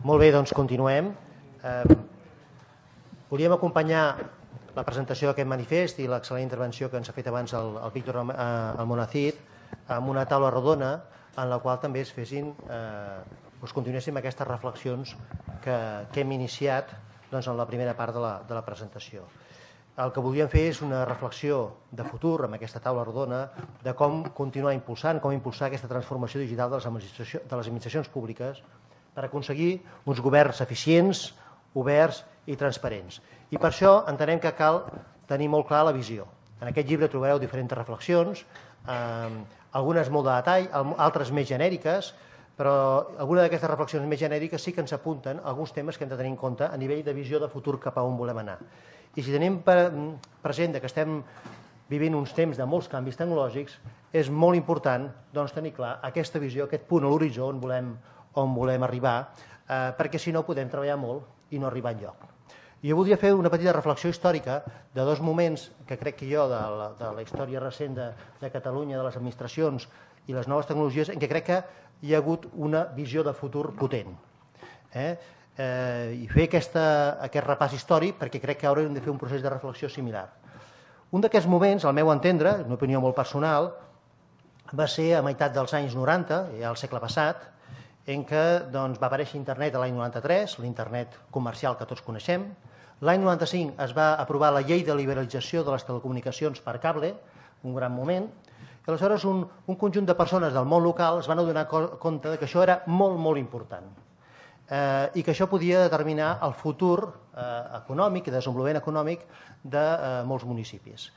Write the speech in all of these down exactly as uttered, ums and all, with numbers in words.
Molt bé, doncs continuem. Eh, volíem acompanyar la presentació d'aquest manifest i l'excel·lent intervenció que ens ha fet abans el, el Víctor Almonacid amb una taula rodona en la qual també es fessin, eh, doncs continuéssim aquestes reflexions que, que hem iniciat doncs, en la primera part de la, de la presentació. El que volíem fer és una reflexió de futur amb aquesta taula rodona de com continuar impulsant, com impulsar aquesta transformació digital de les administracions, de les administracions públiques per aconseguir uns governs eficients, oberts i transparents. I per això entenem que cal tenir molt clar la visió. En aquest llibre trobareu diferents reflexions, eh, algunes molt de detall, altres més genèriques, però alguna d'aquestes reflexions més genèriques sí que ens apunten alguns temes que hem de tenir en compte a nivell de visió de futur cap a on volem anar. I si tenim present que estem vivint uns temps de molts canvis tecnològics, és molt important doncs, tenir clar aquesta visió, aquest punt a l'horitzó on volem, on volem arribar, eh, perquè si no podem treballar molt i no arribar enlloc. Jo voldria fer una petita reflexió històrica de dos moments que crec que jo, de la, de la història recent de, de Catalunya, de les administracions i les noves tecnologies, en què crec que hi ha hagut una visió de futur potent. Eh? Eh, I fer aquesta, aquest repàs històric perquè crec que haurem de fer un procés de reflexió similar. Un d'aquests moments, al meu entendre, una opinió molt personal, va ser a meitat dels anys noranta, ja al segle passat, en què doncs, va aparèixer internet a l'any noranta-tres, l'internet comercial que tots coneixem. L'any noranta-cinc es va aprovar la llei de liberalització de les telecomunicacions per cable, un gran moment. I aleshores un, un conjunt de persones del món local es van adonar compte que això era molt, molt important eh, i que això podia determinar el futur eh, econòmic i desenvolupament econòmic de eh, molts municipis.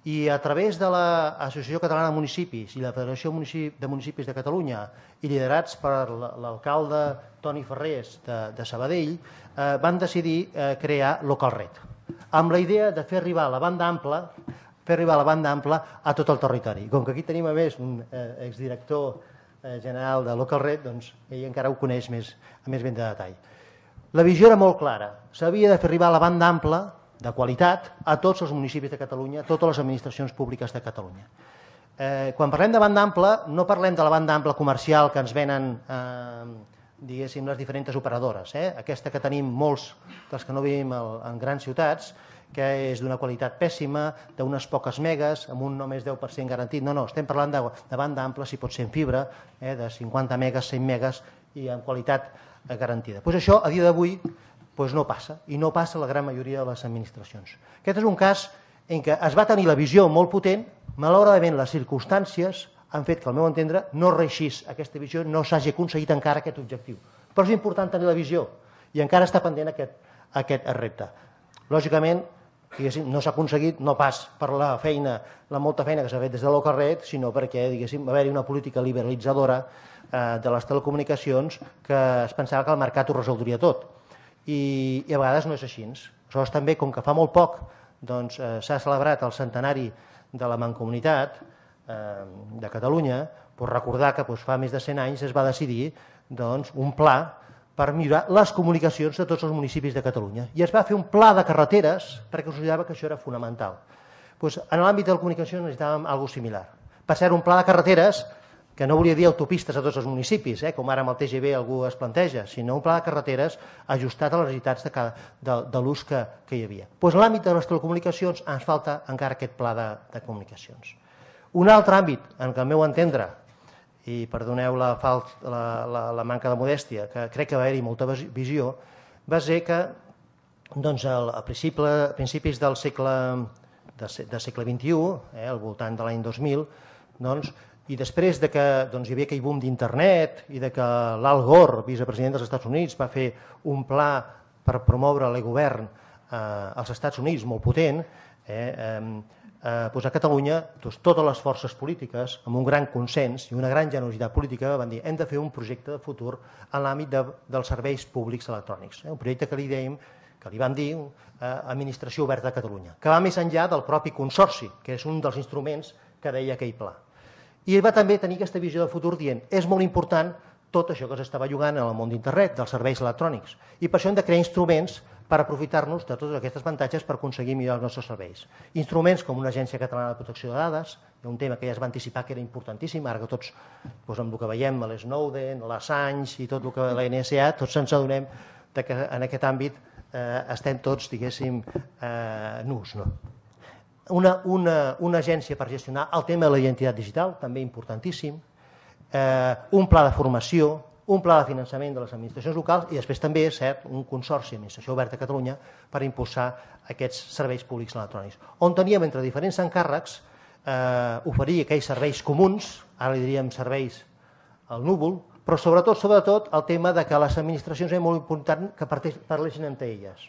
I a través de l'Associació Catalana de Municipis i la Federació de Municipis de Catalunya i liderats per l'alcalde Toni Ferrés de, de Sabadell, eh, van decidir eh, crear Localred, amb la idea de fer arribar la banda ampla fer arribar la banda ampla a tot el territori. Com que aquí tenim a més un eh, exdirector eh, general de Localred, doncs ell encara ho coneix més, més ben de detall. La visió era molt clara. S'havia de fer arribar la banda ampla de qualitat a tots els municipis de Catalunya, a totes les administracions públiques de Catalunya. Eh, quan parlem de banda ampla, no parlem de la banda ampla comercial que ens venen eh, diguéssim, les diferents operadores. Eh? Aquesta que tenim molts dels que no vivim en grans ciutats, que és d'una qualitat pèssima, d'unes poques megas, amb un només deu per cent garantit. No, no, estem parlant de, de banda ampla, si pot ser en fibra, eh, de cinquanta megas, cent megas i amb qualitat eh, garantida. Pues això, a dia d'avui, pues no passa, i no passa a la gran majoria de les administracions. Aquest és un cas en què es va tenir la visió molt potent, malauradament les circumstàncies han fet que, al meu entendre, no reixís aquesta visió, no s'hagi aconseguit encara aquest objectiu. Però és important tenir la visió, i encara està pendent aquest, aquest repte. Lògicament, no s'ha aconseguit no pas per la feina, la molta feina que s'ha fet des de Localred, sinó perquè va haver-hi una política liberalitzadora de les telecomunicacions que es pensava que el mercat ho resoldria tot. I a vegades no és així. Aleshores també, com que fa molt poc s'ha celebrat el centenari de la Mancomunitat de Catalunya, recordar que fa més de cent anys es va decidir un pla per millorar les comunicacions de tots els municipis de Catalunya. I es va fer un pla de carreteres perquè considerava que això era fonamental. En l'àmbit de la comunicació necessitàvem alguna cosa similar. Per cert, un pla de carreteres que no volia dir autopistes a tots els municipis, com ara amb el T G V algú es planteja, sinó un pla de carreteres ajustat a les necessitats de l'ús que hi havia. En l'àmbit de les telecomunicacions ens falta encara aquest pla de comunicacions. Un altre àmbit en què, al meu entendre, i perdoneu la, la, la, la manca de modèstia, que crec que va haver-hi molta visió, va ser que doncs, a principis del segle, del segle vint-i-u, eh, al voltant de l'any dos mil, doncs, i després de que doncs, hi havia aquell boom d'internet i de que l'Al Gore, vicepresident dels Estats Units, va fer un pla per promoure l'e-govern eh, als Estats Units molt potent, eh, eh, Eh, doncs a Catalunya doncs, totes les forces polítiques amb un gran consens i una gran generositat política van dir hem de fer un projecte de futur en l'àmbit de, dels serveis públics electrònics, eh, un projecte que li dèiem, que li vam dir eh, Administració Oberta de Catalunya, que va més enllà del propi consorci, que és un dels instruments que deia aquell pla. I va també tenir aquesta visió de futur dient és molt important tot això que s'estava jugant en el món d'internet, dels serveis electrònics, i per això hem de crear instruments per aprofitar-nos de tots aquests avantatges per aconseguir millorar els nostres serveis. Instruments com una Agència Catalana de Protecció de Dades, Hi ha un tema que ja es va anticipar que era importantíssim, ara que tots, amb el que veiem a l'Snowden, l'Assange i tot el que la N S A, tots ens adonem que en aquest àmbit estem tots, diguéssim, nus. Una agència per gestionar el tema de la identitat digital, també importantíssim, un pla de formació, un pla de finançament de les administracions locals i després també, és cert, un consorci d'administració oberta a Catalunya per impulsar aquests serveis públics electrònics, on teníem entre diferents encàrrecs oferir aquells serveis comuns, ara li diríem serveis al núvol, però sobretot, sobretot, el tema que les administracions és molt important que parlessin entre elles,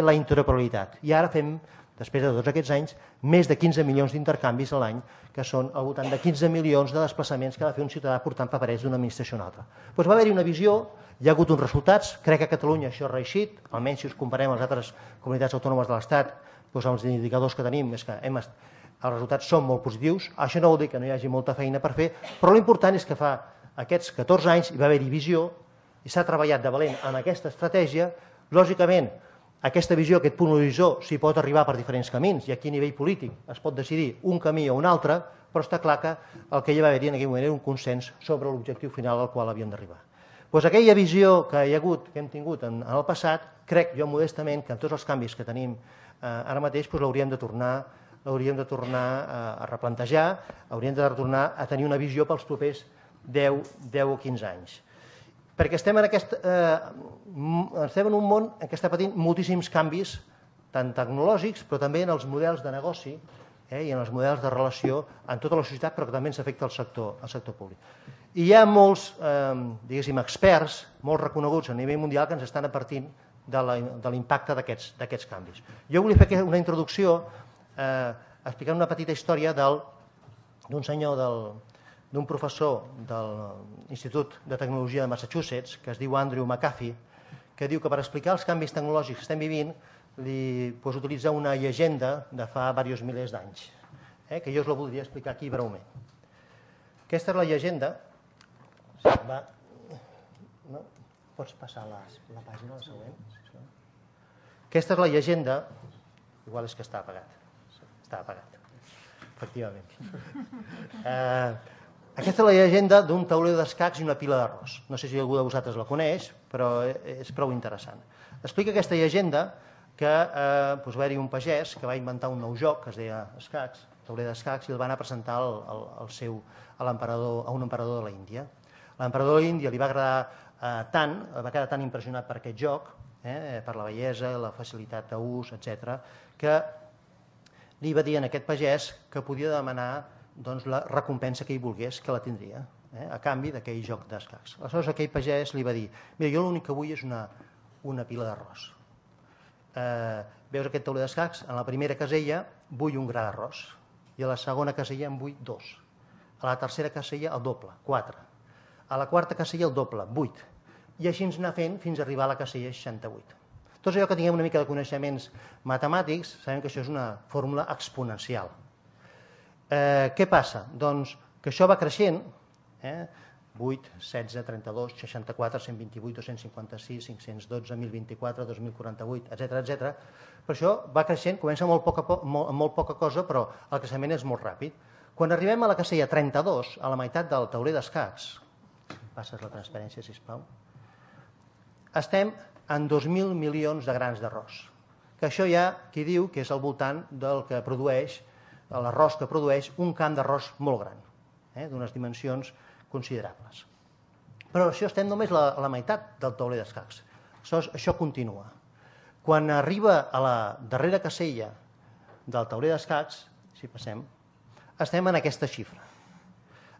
la interoperabilitat. I ara fem, després de tots aquests anys, més de quinze milions d'intercanvis a l'any, que són al voltant de quinze milions de desplaçaments que ha de fer un ciutadà portant paperets d'una administració a una altra. Doncs va haver-hi una visió, hi ha hagut uns resultats, crec que a Catalunya això ha reeixit, almenys si us comparem amb les altres comunitats autònomes de l'Estat, doncs els indicadors que tenim és que els resultats són molt positius, això no vol dir que no hi hagi molta feina per fer, però l'important és que fa aquests catorze anys hi va haver-hi visió i s'ha treballat de valent en aquesta estratègia. Lògicament, aquesta visió, aquest punt d'horitzó, s'hi pot arribar per diferents camins i aquí a nivell polític es pot decidir un camí o un altre, però està clar que el que hi va haver-hi en aquell moment era un consens sobre l'objectiu final al qual havíem d'arribar. Doncs aquella visió que hi ha hagut, que hem tingut en el passat, crec jo modestament que amb tots els canvis que tenim ara mateix l'hauríem de tornar l'hauríem de tornar a replantejar, hauríem de tornar a tenir una visió pels propers deu o quinze anys. Perquè estem en un món en què està patint moltíssims canvis, tant tecnològics, però també en els models de negoci i en els models de relació en tota la societat, però que també ens afecta al sector públic. I hi ha molts, diguéssim, experts, molt reconeguts a nivell mundial, que ens estan advertint de l'impacte d'aquests canvis. Jo volia fer una introducció explicant una petita història d'un senyor, d'un professor de l'Institut de Tecnologia de Massachusetts, que es diu Andrew McAfee, que diu que per explicar els canvis tecnològics que estem vivint li utilitza una llegenda de fa diversos milers d'anys, que jo us la voldria explicar aquí breument. Aquesta és la llegenda. Pots passar la pàgina, la següent? Aquesta és la llegenda, igual és que està apagat. Està apagat, efectivament. Aquesta és la llegenda d'un tauler d'escacs i una pila d'arròs. No sé si algú de vosaltres la coneix, però és prou interessant. Explica aquesta llegenda que va haver-hi un pagès que va inventar un nou joc que es deia escacs, tauler d'escacs, i el va anar a presentar a un emperador de l'Índia. L'emperador de l'Índia li va agradar tant, va quedar tan impressionat per aquest joc, per la bellesa, la facilitat d'ús, etcètera, que li va dir a aquest pagès que podia demanar la recompensa que ell volgués, que la tindria, a canvi d'aquell joc d'escacs. Aleshores aquell pagès li va dir: mira, jo l'únic que vull és una pila d'arròs. Veus aquest tauler d'escacs? En la primera casella vull un gra d'arròs i a la segona casella en vull dos. A la tercera casella el doble, quatre. A la quarta casella el doble, vuit. I així ens anar fent fins a arribar a la casella seixanta-vuit. Tots allò que tinguem una mica de coneixements matemàtics, sabem que això és una fórmula exponencial. Què passa? Doncs que això va creixent, vuit, setze, trenta-dos, seixanta-quatre, cent vint-i-vuit, dos-cents cinquanta-sis, cinc-cents dotze, mil vint-i-quatre, dos mil quaranta-vuit, etcètera, etcètera. Per això va creixent, comença amb molt poca cosa, però el creixement és molt ràpid. Quan arribem a la casella trenta-dos, a la meitat del tauler d'escacs, passes la transparència, sisplau, estem en dos mil milions de grans d'arròs. Que això hi ha qui diu que és al voltant del que produeix, l'arròs que produeix un camp d'arròs molt gran, d'unes dimensions considerables. Però això estem només a la meitat del tauler d'escacs. Això continua. Quan arriba a la darrera casella del tauler d'escacs, si passem, estem en aquesta xifra.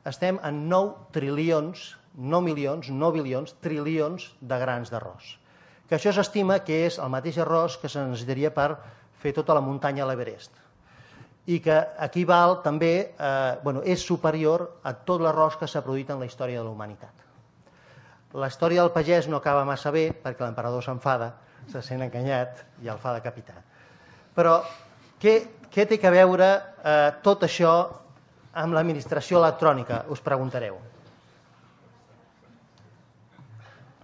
Estem en nou trilions, no milions, no bilions, trilions de grans d'arròs. Que això s'estima que és el mateix arròs que se necessitaria per fer tota la muntanya a l'Everest. I que equival també, és superior a tot l'arròs que s'ha produït en la història de la humanitat. La història del pagès no acaba massa bé perquè l'emperador s'enfada, se sent enganyat i el fa decapitar. Però què té a veure tot això amb l'administració electrònica, us preguntareu.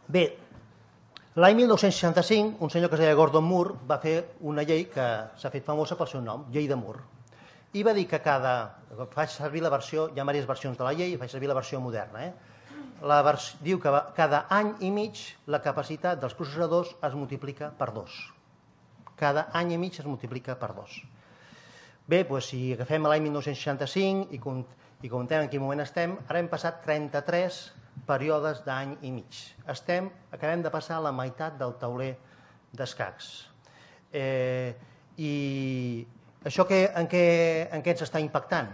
Bé, l'any mil nou-cents seixanta-cinc, un senyor que es deia Gordon Moore va fer una llei que s'ha fet famosa pel seu nom, Llei de Moore. i va dir que cada... Faig servir la versió, hi ha diverses versions de la llei, faig servir la versió moderna. La vers, diu que cada any i mig la capacitat dels processadors es multiplica per dos. Cada any i mig es multiplica per dos. Bé, doncs si agafem l'any mil nou-cents seixanta-cinc i comptem en quin moment estem, ara hem passat trenta-tres períodes d'any i mig. Estem, acabem de passar la meitat del tauler d'escacs. Eh, I això que, en, què, en què ens està impactant?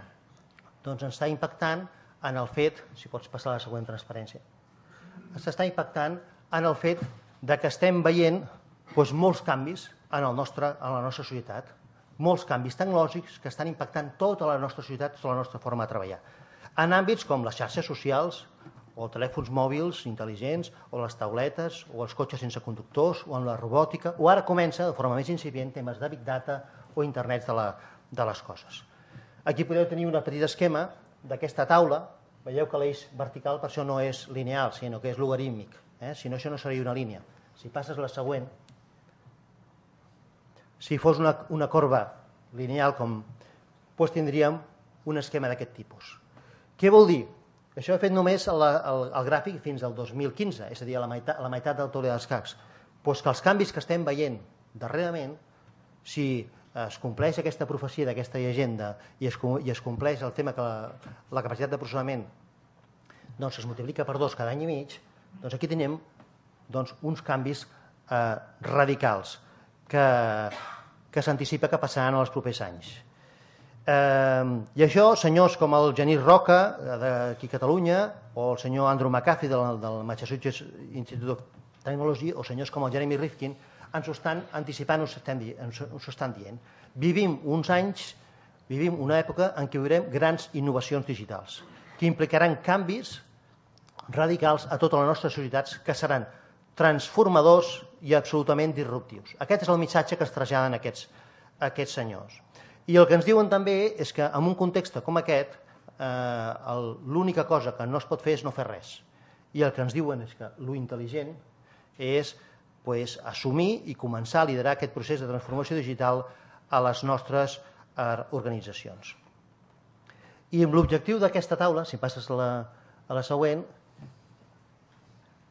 Doncs ens està impactant en el fet, si pots passar a la següent transparència, ens està impactant en el fet de que estem veient doncs, molts canvis en, el nostre, en la nostra societat, molts canvis tecnològics que estan impactant tota la nostra societat, tota la nostra forma de treballar. En àmbits com les xarxes socials, o els telèfons mòbils intel·ligents, o les tauletes, o els cotxes sense conductors, o en la robòtica, o ara comença, de forma més incipient, temes de Big Data o internet de, la, de les coses. Aquí podeu tenir un petit esquema d'aquesta taula. Veieu que l'eix vertical per això no és lineal, sinó que és logarítmic. Eh? Si no, això no seria una línia. Si passes la següent, si fos una, una corba lineal, com, doncs tindríem un esquema d'aquest tipus. Què vol dir? Això he fet només el, el, el gràfic fins al dos mil quinze, és a dir, a la meitat, a la meitat del tauler d'escacs. Doncs que els canvis que estem veient darrerament, si es compleix aquesta profecia d'aquesta llegenda i es, i es compleix el tema que la, la capacitat de processament doncs, es multiplica per dos cada any i mig, doncs aquí tenim doncs, uns canvis eh, radicals que, que s'anticipa que passaran en els propers anys. Eh, I això, senyors com el Genís Roca, d'aquí a Catalunya, o el senyor Andrew McAfee del, del Massachusetts Institute of Technology, o senyors com el Jeremy Rifkin, ens ho estan anticipant, ens ho estan dient. Vivim uns anys, vivim una època en què veurem grans innovacions digitals, que implicaran canvis radicals a totes les nostres societats que seran transformadors i absolutament disruptius. Aquest és el missatge que es traslladen aquests, aquests senyors. I el que ens diuen també és que en un context com aquest, eh, l'única cosa que no es pot fer és no fer res. I el que ens diuen és que lo intel·ligent és pues, assumir i començar a liderar aquest procés de transformació digital a les nostres eh, organitzacions. I amb l'objectiu d'aquesta taula, si passes a la, a la següent,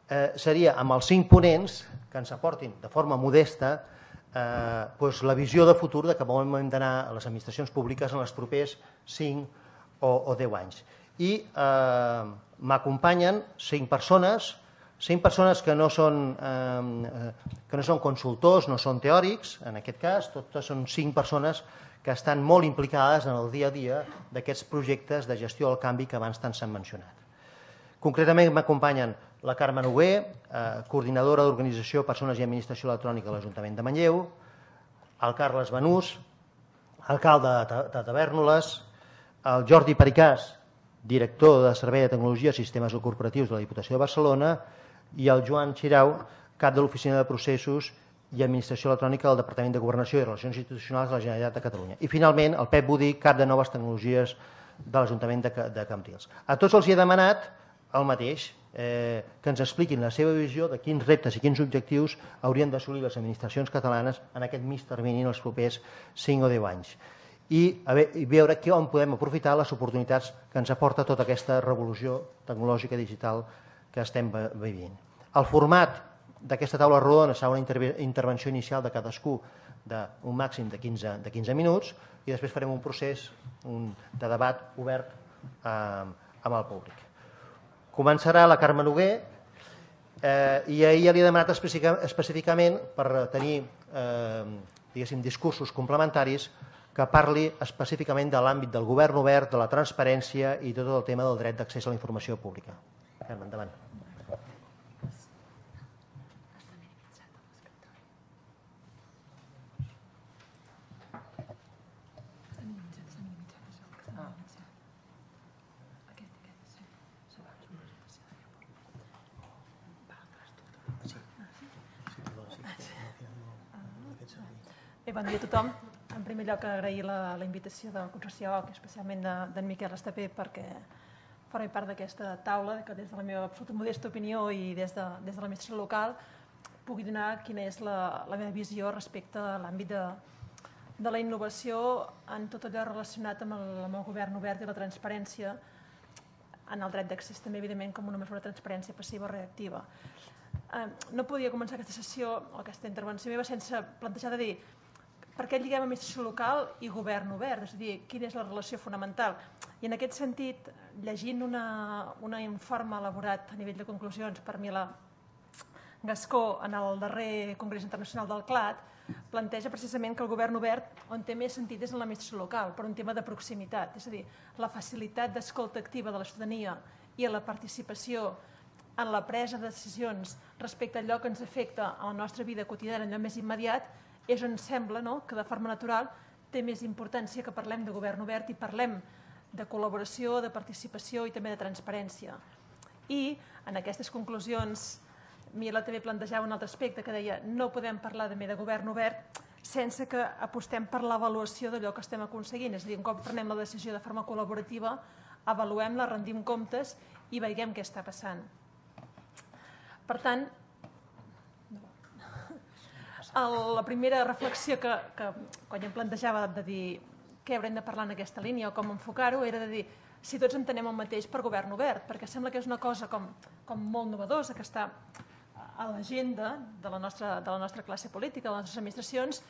eh, seria amb els cinc ponents que ens aportin de forma modesta eh, pues, la visió de futur de cap on hem d'anar a les administracions públiques en els propers cinc o, o deu anys. I eh, m'acompanyen cinc persones, cinc persones que no són, eh, que no són consultors, no són teòrics, en aquest cas, totes són cinc persones que estan molt implicades en el dia a dia d'aquests projectes de gestió del canvi que abans tant s'han mencionat. Concretament m'acompanyen la Carme Noguer, eh, coordinadora d'Organització, Persones i Administració Electrònica de l'Ajuntament de Manlleu, el Carles Banús, alcalde de Tavèrnoles, el Jordi Pericàs, director de Servei de Tecnologia i Sistemes Corporatius de la Diputació de Barcelona, i el Joan Xirau, cap de l'Oficina de Processos i Administració Electrònica del Departament de Governació i Relacions Institucionals de la Generalitat de Catalunya. I finalment el Pep Budí, cap de Noves Tecnologies de l'Ajuntament de Cambrils. A tots els hi he demanat el mateix, eh, que ens expliquin la seva visió de quins reptes i quins objectius haurien d'assolir les administracions catalanes en aquest mig termini en els propers cinc o deu anys. I, a veure, i veure que on podem aprofitar les oportunitats que ens aporta tota aquesta revolució tecnològica i digital que estem vivint. El format d'aquesta taula rodona serà una intervenció inicial de cadascú d'un màxim de quinze, de quinze minuts i després farem un procés un, de debat obert eh, amb el públic. Començarà la Carme Noguer eh, i ahir ja li he demanat específicament per tenir eh, diguéssim, discursos complementaris que parli específicament de l'àmbit del govern obert, de la transparència i tot el tema del dret d'accés a la informació pública. Carme, endavant. Bé, bon dia a tothom. En primer lloc, agrair la, la invitació del Consorci O C, especialment d'en de, Miquel Estapé, perquè formi part d'aquesta taula, que des de la meva absoluta modesta opinió i des de, des de l'administració local pugui donar quina és la, la meva visió respecte a l'àmbit de, de la innovació en tot allò relacionat amb el, amb el govern obert i la transparència, en el dret d'accés també, evidentment, com una mesura de transparència passiva o reactiva. Eh, no podia començar aquesta sessió o aquesta intervenció meva sense plantejar de dir per què lliguem administració local i govern obert, és a dir, quina és la relació fonamental. I en aquest sentit, llegint una, una informe elaborat a nivell de conclusions per Milà Gascó en el darrer Congrés Internacional del C L A T, planteja precisament que el govern obert on té més sentit és en l'administració local, per un tema de proximitat, és a dir, la facilitat d'escolta activa de la ciutadania i la participació en la presa de decisions respecte a allò que ens afecta a la nostra vida quotidiana, allò més immediat, és on sembla no, que de forma natural té més importància que parlem de govern obert i parlem de col·laboració, de participació i també de transparència. I en aquestes conclusions Milà també plantejava un altre aspecte que deia no podem parlar també de govern obert sense que apostem per l'avaluació d'allò que estem aconseguint. És a dir, un cop prenem la decisió de forma col·laborativa, avaluem-la, rendim comptes i veiem què està passant. Per tant, la primera reflexió que, que quan jo em plantejava de dir què haurem de parlar en aquesta línia o com enfocar-ho era de dir si tots entenem el mateix per govern obert, perquè sembla que és una cosa com, com molt novedosa que està a l'agenda de, la nostra, de la nostra classe política, de les nostres administracions,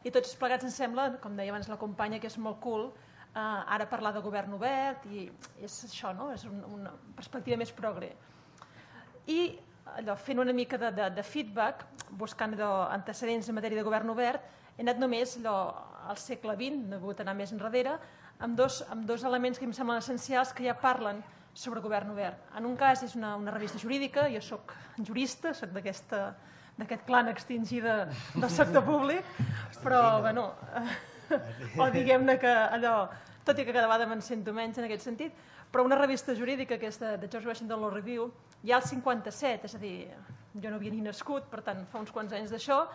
i tots plegats ens sembla, com deia abans la companya, que és molt cool eh, ara parlar de govern obert i és això, no? És un, una perspectiva més progre. I allò, fent una mica de, de, de feedback, buscant allò, antecedents en matèria de govern obert, he anat només allò, al segle vint, no he pogut anar més enrere, amb dos, amb dos elements que em semblen essencials que ja parlen sobre govern obert. En un cas és una, una revista jurídica, jo sóc jurista, sóc d'aquest clan extingida del sector públic, però, bueno, o diguem-ne que allò, tot i que cada vegada me'n sento menys en aquest sentit, però una revista jurídica, aquesta de George Washington Law Review, ja al cinquanta-set, és a dir, jo no havia ni nascut, per tant, fa uns quants anys d'això,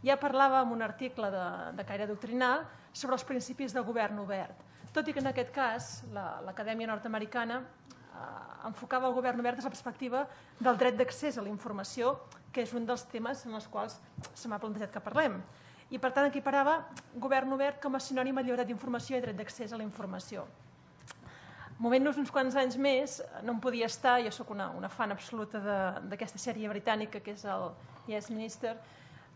ja parlava en un article de, de caire doctrinal sobre els principis del govern obert. Tot i que en aquest cas, l'Acadèmia Nord-Americana eh, enfocava el govern obert des de la perspectiva del dret d'accés a la informació, que és un dels temes en els quals se m'ha plantejat que parlem. I, per tant, equiparava govern obert com a sinònim a llibertat d'informació i dret d'accés a la informació. Movent-nos uns quants anys més, no em podia estar, jo sóc una, una fan absoluta d'aquesta sèrie britànica que és el Yes Minister,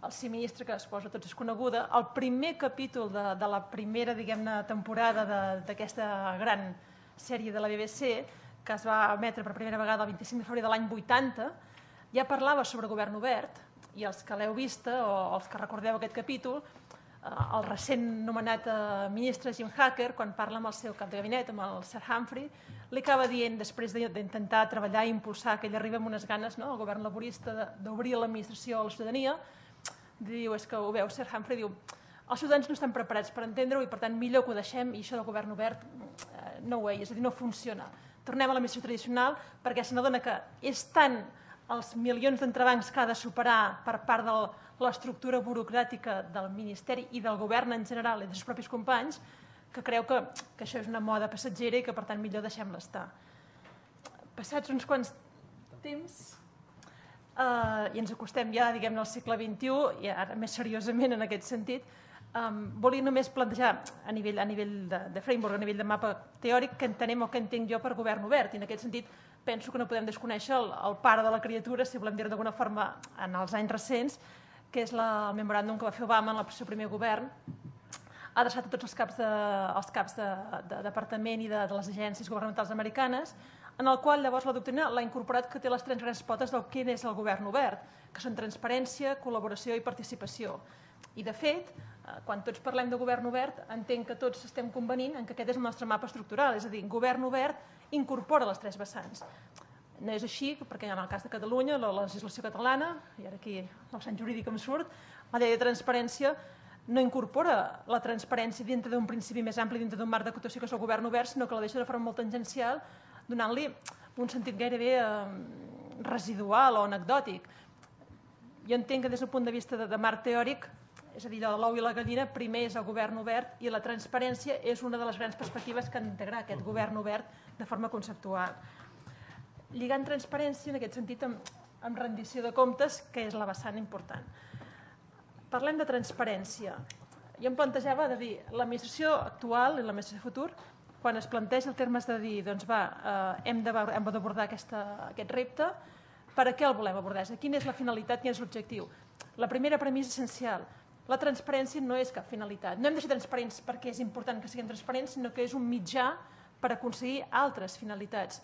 el Sí Ministre, que suposo tots és coneguda, el primer capítol de, de la primera, diguem-ne, temporada d'aquesta gran sèrie de la B B C, que es va emetre per primera vegada el vint-i-cinc de febrer de l'any vuitanta, ja parlava sobre govern obert, i els que l'heu vista o els que recordeu aquest capítol, el recent nomenat ministre Jim Hacker, quan parla amb el seu cap de gabinet, amb el Sir Humphrey, li acaba dient, després d'intentar treballar i impulsar, que ell arriba amb unes ganes, no?, el govern laborista, d'obrir l'administració a la ciutadania, diu, és que ho veu, Sir Humphrey diu, els ciutadans no estan preparats per entendre-ho i per tant millor que ho deixem i això del govern obert no way, és a dir, no funciona. Tornem a l'administració tradicional perquè se n'adona que és tant els milions d'entrebancs que ha de superar per part de l'estructura burocràtica del Ministeri i del govern en general i dels seus propis companys, que creu que, que això és una moda passatgera i que per tant millor deixem-la estar. Passats uns quants temps eh, i ens acostem ja diguem-ne al segle vint-i-u i ara més seriosament en aquest sentit, um, volia només plantejar a nivell, a nivell de, de framework, a nivell de mapa teòric, que entenem o que entenc jo per govern obert, i en aquest sentit penso que no podem desconèixer el, el pare de la criatura, si volem dir-ho d'alguna forma, en els anys recents, que és la, el memoràndum que va fer Obama en el seu primer govern, adreçat a tots els caps de, els caps de, de departament i de, de les agències governamentals americanes, en el qual llavors la doctrina l'ha incorporat que té les tres grans potes del que és el govern obert, que són transparència, col·laboració i participació. I de fet, quan tots parlem de govern obert, entenc que tots estem convenint en que aquest és el nostre mapa estructural, és a dir, govern obert incorpora les tres vessants. No és així, perquè en el cas de Catalunya, la legislació catalana, i ara aquí el sant jurídic em surt, la llei de transparència no incorpora la transparència dintre d'un principi més ampli, dintre d'un marc d'actuació que és el govern obert, sinó que la deixa de forma molt tangencial, donant-li un sentit gairebé eh, residual o anecdòtic. Jo entenc que des del punt de vista de, de marc teòric, és a dir, l'ou i la gallina, primer és el govern obert i la transparència és una de les grans perspectives que han d'integrar aquest govern obert de forma conceptual. Lligant transparència, en aquest sentit, amb, amb rendició de comptes, que és la vessant important. Parlem de transparència. jo em plantejava de dir, l'administració actual i l'administració futur, quan es planteja el termes de dir, doncs va, eh, hem d'abordar aquest repte, per a què el volem abordar? Quina és la finalitat, quin és l'objectiu? La primera premissa essencial, la transparència no és cap finalitat. No hem de ser transparents perquè és important que siguem transparents, sinó que és un mitjà per aconseguir altres finalitats.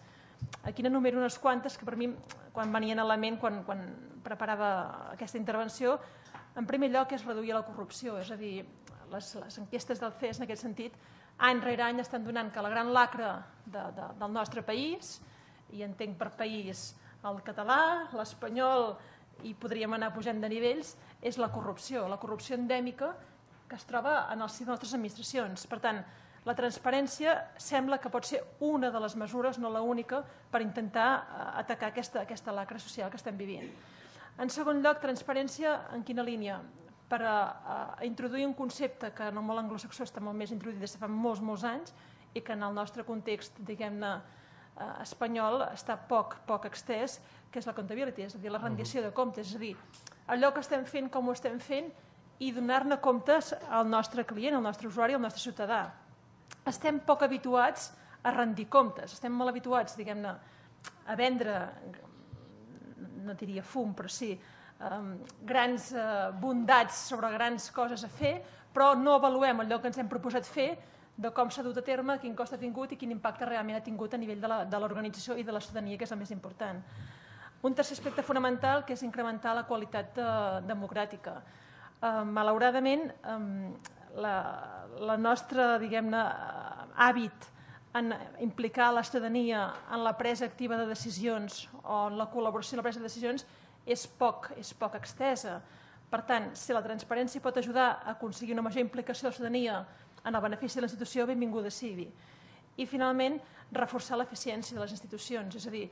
Aquí n'enumero unes quantes que per mi, quan venien a la ment, quan, quan preparava aquesta intervenció, en primer lloc és reduir la corrupció, és a dir, les, les enquestes del C E S en aquest sentit, any rere any estan donant que la gran lacra de, de, del nostre país, i entenc per país el català, l'espanyol, i podríem anar pujant de nivells, és la corrupció, la corrupció endèmica que es troba en el si de les nostres administracions. Per tant, la transparència sembla que pot ser una de les mesures, no l'única, per intentar atacar aquesta, aquesta lacra social que estem vivint. En segon lloc, transparència en quina línia? Per a, a introduir un concepte que en el món anglosaxó està molt més introduït des de fa molts, molts anys i que en el nostre context, diguem-ne, espanyol està poc, poc extès, que és la accountability, és a dir, la rendició de comptes, és a dir, allò que estem fent, com ho estem fent, i donar-ne comptes al nostre client, al nostre usuari, al nostre ciutadà. Estem poc habituats a rendir comptes, estem molt habituats, diguem-ne, a vendre, no diria fum, però sí, grans bondats sobre grans coses a fer, però no avaluem allò que ens hem proposat fer, de com s'ha dut a terme, quin cost ha tingut i quin impacte realment ha tingut a nivell de l'organització i de la ciutadania, que és el més important. Un tercer aspecte fonamental, que és incrementar la qualitat democràtica. Malauradament, la nostra, diguem-ne, hàbit en implicar la ciutadania en la presa activa de decisions o en la col·laboració en la presa de decisions és poc, és poc extesa. Per tant, si la transparència pot ajudar a aconseguir una major implicació de la ciutadania en el benefici de la institució, benvinguda sigui. I, finalment, reforçar l'eficiència de les institucions. És a dir,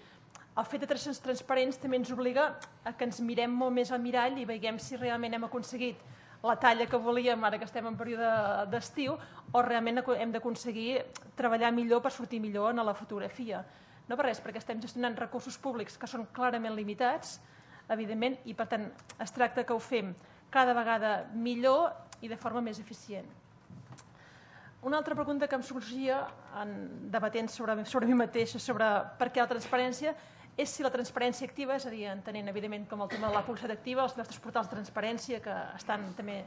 el fet de ser transparents també ens obliga a que ens mirem molt més al mirall i veiem si realment hem aconseguit la talla que volíem ara que estem en període d'estiu o realment hem d'aconseguir treballar millor per sortir millor en la fotografia. No per res, perquè estem gestionant recursos públics que són clarament limitats, evidentment, i per tant es tracta que ho fem cada vegada millor i de forma més eficient. Una altra pregunta que em sorgia debatent sobre mi mateixa, sobre per què la transparència, és si la transparència activa, és a dir, entenent evidentment com el tema de la publicitat activa, els nostres portals de transparència que estan també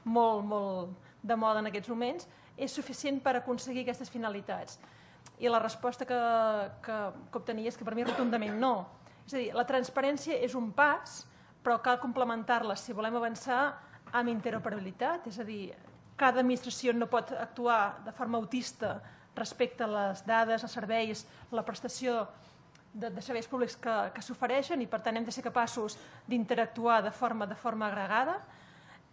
molt, molt de moda en aquests moments, és suficient per aconseguir aquestes finalitats. I la resposta que obtenia és que per mi rotundament no. És a dir, la transparència és un pas, però cal complementar-la si volem avançar amb interoperabilitat, és a dir, cada administració no pot actuar de forma autista respecte a les dades, els serveis, la prestació de serveis públics que s'ofereixen i per tant hem de ser capaços d'interactuar de forma agregada.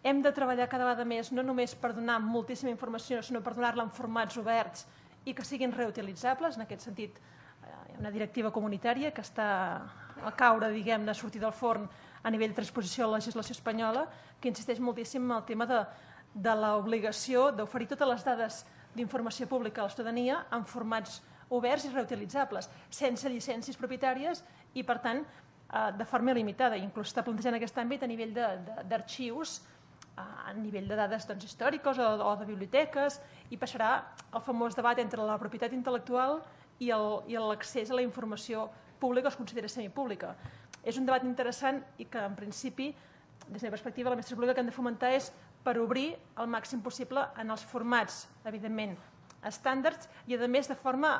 Hem de treballar cada vegada més no només per donar moltíssima informació, sinó per donar-la en formats oberts i que siguin reutilitzables. En aquest sentit, hi ha una directiva comunitària que està a caure, diguem-ne, a sortir del forn a nivell de transposició a la legislació espanyola, que insisteix moltíssim en el tema de de l'obligació d'oferir totes les dades d'informació pública a la ciutadania en formats oberts i reutilitzables, sense llicències propietàries i, per tant, de forma limitada. Inclús està plantejant aquest àmbit a nivell d'arxius, a nivell de dades històriques o de biblioteques, i passarà el famós debat entre la propietat intel·lectual i l'accés a la informació pública o es considera semipública. És un debat interessant i que, en principi, des de la perspectiva de l'administració pública, que hem de fomentar és per obrir el màxim possible en els formats, evidentment, estàndards i, a més, de forma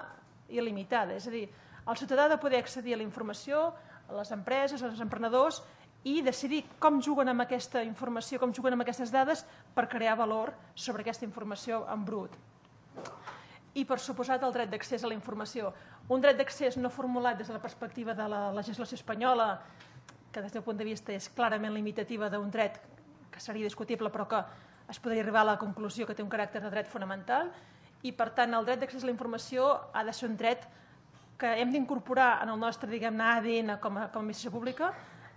il·limitada. És a dir, el ciutadà ha de poder accedir a la informació, a les empreses, als emprenedors i decidir com juguen amb aquesta informació, com juguen amb aquestes dades per crear valor sobre aquesta informació en brut. I, per suposat, el dret d'accés a la informació. Un dret d'accés no formulat des de la perspectiva de la legislació espanyola, que des del punt de vista és clarament limitativa d'un dret que seria discutible però que es podria arribar a la conclusió que té un caràcter de dret fonamental i, per tant, el dret d'accés a la informació ha de ser un dret que hem d'incorporar en el nostre, diguem-ne, A D N com a administració pública.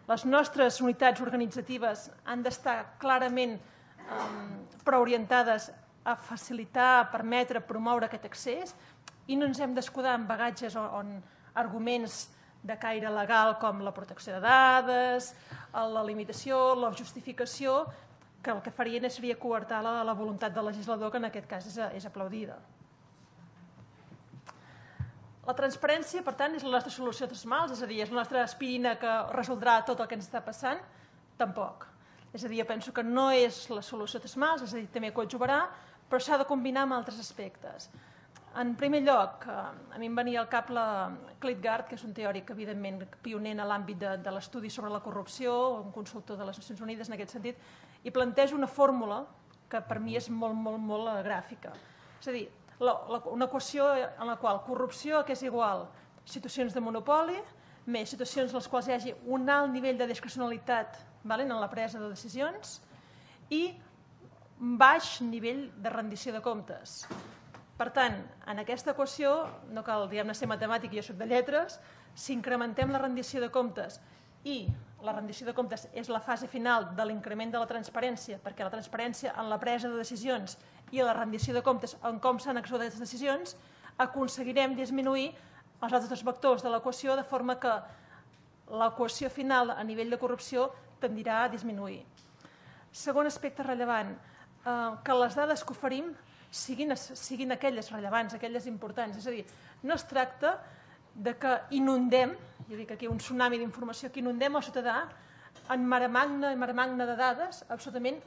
Les nostres unitats organitzatives han d'estar clarament preorientades a facilitar, a permetre, a promoure aquest accés i no ens hem d'escudar en bagatges o en arguments de caire legal com la protecció de dades, la limitació, la justificació, que el que farien seria coartar la voluntat del legislador, que en aquest cas és aplaudida. La transparència, per tant, és la nostra solució a tots els mals, és a dir, és la nostra aspirina que resoldrà tot el que ens està passant? Tampoc. És a dir, jo penso que no és la solució a tots els mals, és a dir, també coadjuvarà, però s'ha de combinar amb altres aspectes. En primer lloc, a mi em venia al cap la Klitgard, que és un teòric, evidentment, pioner en l'àmbit de l'estudi sobre la corrupció, un consultor de les Nacions Unides en aquest sentit, i planteja una fórmula que per mi és molt, molt, molt gràfica. És a dir, una equació en la qual corrupció, que és igual situacions de monopoli, més situacions en les quals hi hagi un alt nivell de discrecionalitat en la presa de decisions i baix nivell de rendició de comptes. Per tant, en aquesta equació, no cal diguem-ne ser matemàtic, jo soc de lletres, si incrementem la rendició de comptes i la rendició de comptes és la fase final de l'increment de la transparència, perquè la transparència en la presa de decisions i la rendició de comptes en com s'han executat aquestes decisions, aconseguirem disminuir els altres dos vectors de l'equació de forma que l'equació final a nivell de corrupció tendirà a disminuir. Segon aspecte rellevant, que les dades que oferim siguin aquelles rellevants, aquelles importants. És a dir, no es tracta que inundem, jo dic aquí un tsunami d'informació, que inundem el ciutadà en mare magna i mare magna de dades absolutament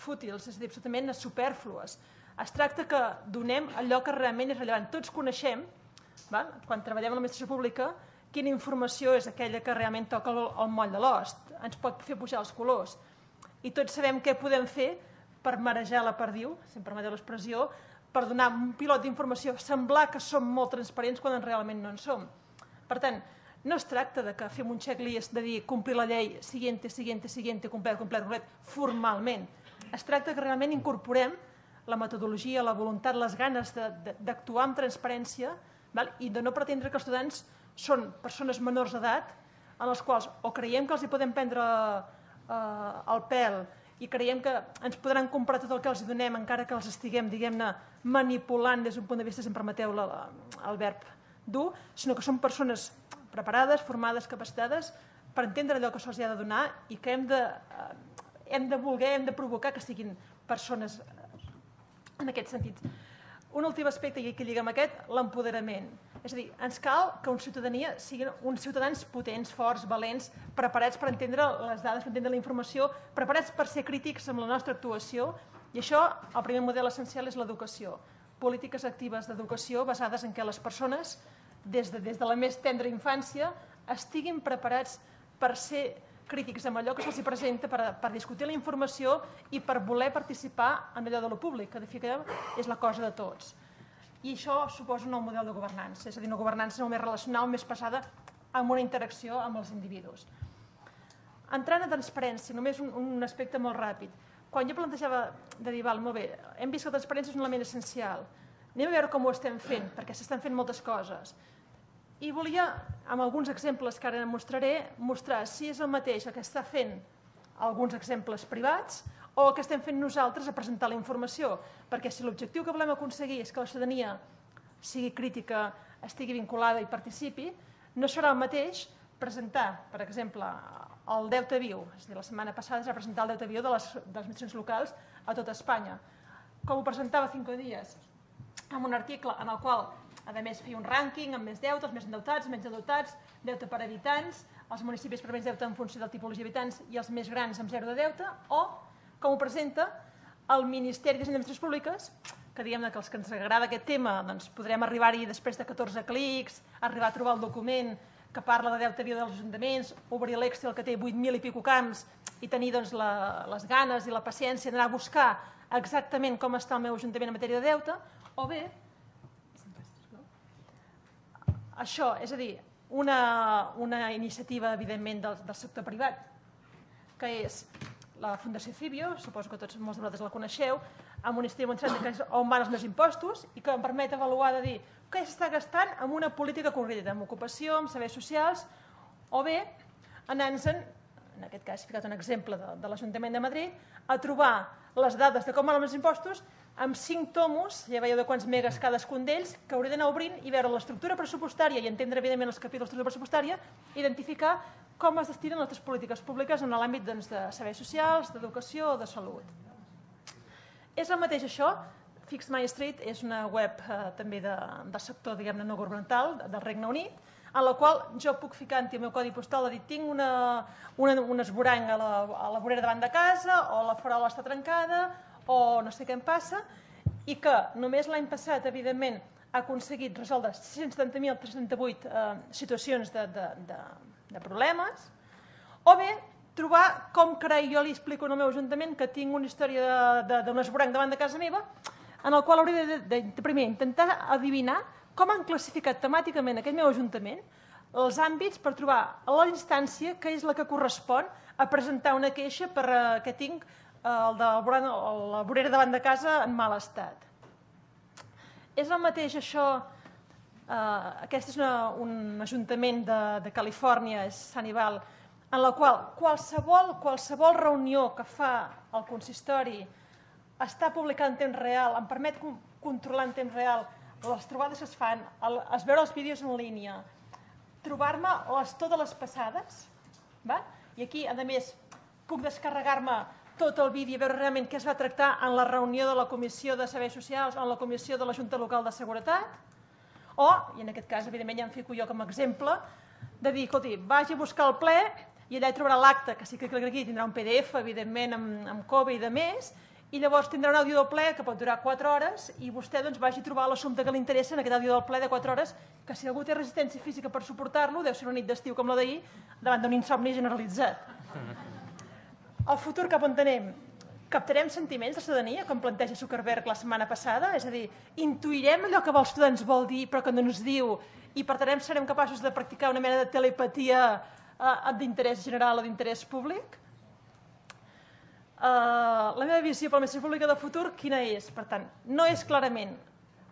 fútils, és a dir, absolutament supèrflues. Es tracta que donem allò que realment és rellevant. Tots coneixem, quan treballem a l'administració pública, quina informació és aquella que realment toca el moll de l'os, ens pot fer pujar els colors. I tots sabem què podem fer per marejar la perdiu, si em permeteu l'expressió, per donar un pilot d'informació, semblar que som molt transparents quan realment no en som. Per tant, no es tracta que fem un checklist de dir complir la llei, siguiente, siguiente, siguiente, complet, complet, complet, formalment. Es tracta que realment incorporem la metodologia, la voluntat, les ganes d'actuar amb transparència i de no pretendre que els ciutadans són persones menors d'edat en les quals o creiem que els hi podem prendre el pèl i creiem que ens podran comprar tot el que els donem encara que els estiguem, diguem-ne, manipulant des d'un punt de vista, si em permeteu el verb dur, sinó que són persones preparades, formades, capacitades per entendre allò que se'ls ha de donar i que hem de voler, hem de provocar que siguin persones en aquest sentit. Un últim aspecte, i que lliga amb aquest, l'empoderament. És a dir, ens cal que una ciutadania siguin uns ciutadans potents, forts, valents, preparats per entendre les dades, per entendre la informació, preparats per ser crítics amb la nostra actuació. I això, el primer model essencial és l'educació. Polítiques actives d'educació basades en què les persones, des de la més tendra infància, estiguin preparats per ser crítics amb allò que se'ls presenta, per discutir la informació i per voler participar en allò de lo públic, que de fet és la cosa de tots. I això suposa un nou model de governança, és a dir, una governança molt més relacional, més passada amb una interacció amb els individus. Entrant a transparència, només un aspecte molt ràpid. Quan jo plantejava de dir, val, molt bé, hem vist que la transparència és un element essencial. Anem a veure com ho estem fent, perquè s'estan fent moltes coses. I volia, amb alguns exemples que ara mostraré, mostrar si és el mateix el que està fent alguns exemples privats o el que estem fent nosaltres a presentar la informació. Perquè si l'objectiu que volem aconseguir és que la ciutadania sigui crítica, estigui vinculada i participi, no serà el mateix presentar, per exemple, el deute viu. És a dir, la setmana passada es va presentar el deute viu de les administracions locals a tot Espanya. Com ho presentava Cinco Días, amb un article en el qual, a més, feia un rànquing amb més deute, els més endeutats, menys endeutats, deute per habitants, els municipis per menys deute en funció de la tipologia d'habitants i els més grans amb zero de deute, o com ho presenta el Ministeri d'Administracions Públiques, que diguem que els que ens agrada aquest tema podrem arribar-hi després de catorze clics, arribar a trobar el document que parla de deute viu dels ajuntaments, obrir l'Excel que té vuit mil i pico camps i tenir les ganes i la paciència d'anar a buscar exactament com està el meu ajuntament en matèria de deute, o bé, això, és a dir, una iniciativa, evidentment, del sector privat, que és la Fundació Cibio, suposo que tots molts de vosaltres la coneixeu, amb un estudi molt interessant que és on van els meus impostos i que em permet avaluar de dir què s'està gastant en una política concreta, en ocupació, en serveis socials, o bé anant-se'n, en aquest cas he ficat un exemple de, de l'Ajuntament de Madrid, a trobar les dades de com van els impostos amb cinc tomos, ja veieu de quants megas cadascun d'ells, que hauré d'anar obrint i veure l'estructura pressupostària i entendre evidentment els capítols de l'estructura pressupostària, identificar com es destinen les altres polítiques públiques en l'àmbit doncs, de serveis socials, d'educació o de salut. És el mateix això. Fix My Street és una web eh, també de, del sector diguem-ne no governamental del Regne Unit, en la qual jo puc ficar en el meu codi postal de dir tinc una, una, un esborany a la, a la vorera davant de casa o la farola està trencada o no sé què em passa, i que només l'any passat, evidentment, ha aconseguit resoldre sis-cents setanta mil tres-cents trenta-vuit eh, situacions de, de, de, de problemes, o bé trobar com carai jo li explico al meu ajuntament que tinc una història d'un esborany davant de casa meva, en el qual hauré de, de, de primer intentar adivinar com han classificat temàticament aquest meu ajuntament els àmbits per trobar la instància que és la que correspon a presentar una queixa per uh, que tinc uh, el de la vorera davant de casa en mal estat. És el mateix això, uh, aquest és una, un ajuntament de, de Califòrnia, és Sunnyvale, en la qual qualsevol, qualsevol reunió que fa el consistori està publicant en temps real, em permet controlar en temps real les trobades que es fan, el, es veure els vídeos en línia, trobar-me les, totes les passades, va? I aquí, a més, puc descarregar-me tot el vídeo i veure realment què es va tractar en la reunió de la Comissió de Serveis Socials o en la Comissió de la Junta Local de Seguretat, o, i en aquest cas, evidentment, ja em fico jo com a exemple, de dir, escolti, vagi a buscar el ple i allà hi trobarà l'acte, que sí que aquí tindrà un P D F, evidentment, amb, amb Cove i de més, i llavors tindrà un àudio del ple que pot durar quatre hores i vostè doncs, vagi a trobar l'assumpte que li interessa en aquest àudio del ple de quatre hores, que si algú té resistència física per suportar-lo, deu ser una nit d'estiu com la d'ahir, davant d'un insomni generalitzat. El futur cap on anem? Captarem sentiments de ciutadania, com planteja Zuckerberg la setmana passada? És a dir, intuirem allò que els ciutadans vol dir però que no ens diu i per tant serem capaços de practicar una mena de telepatia eh, d'interès general o d'interès públic? Uh, la meva visió per l'administració pública del futur quina és? Per tant, no és clarament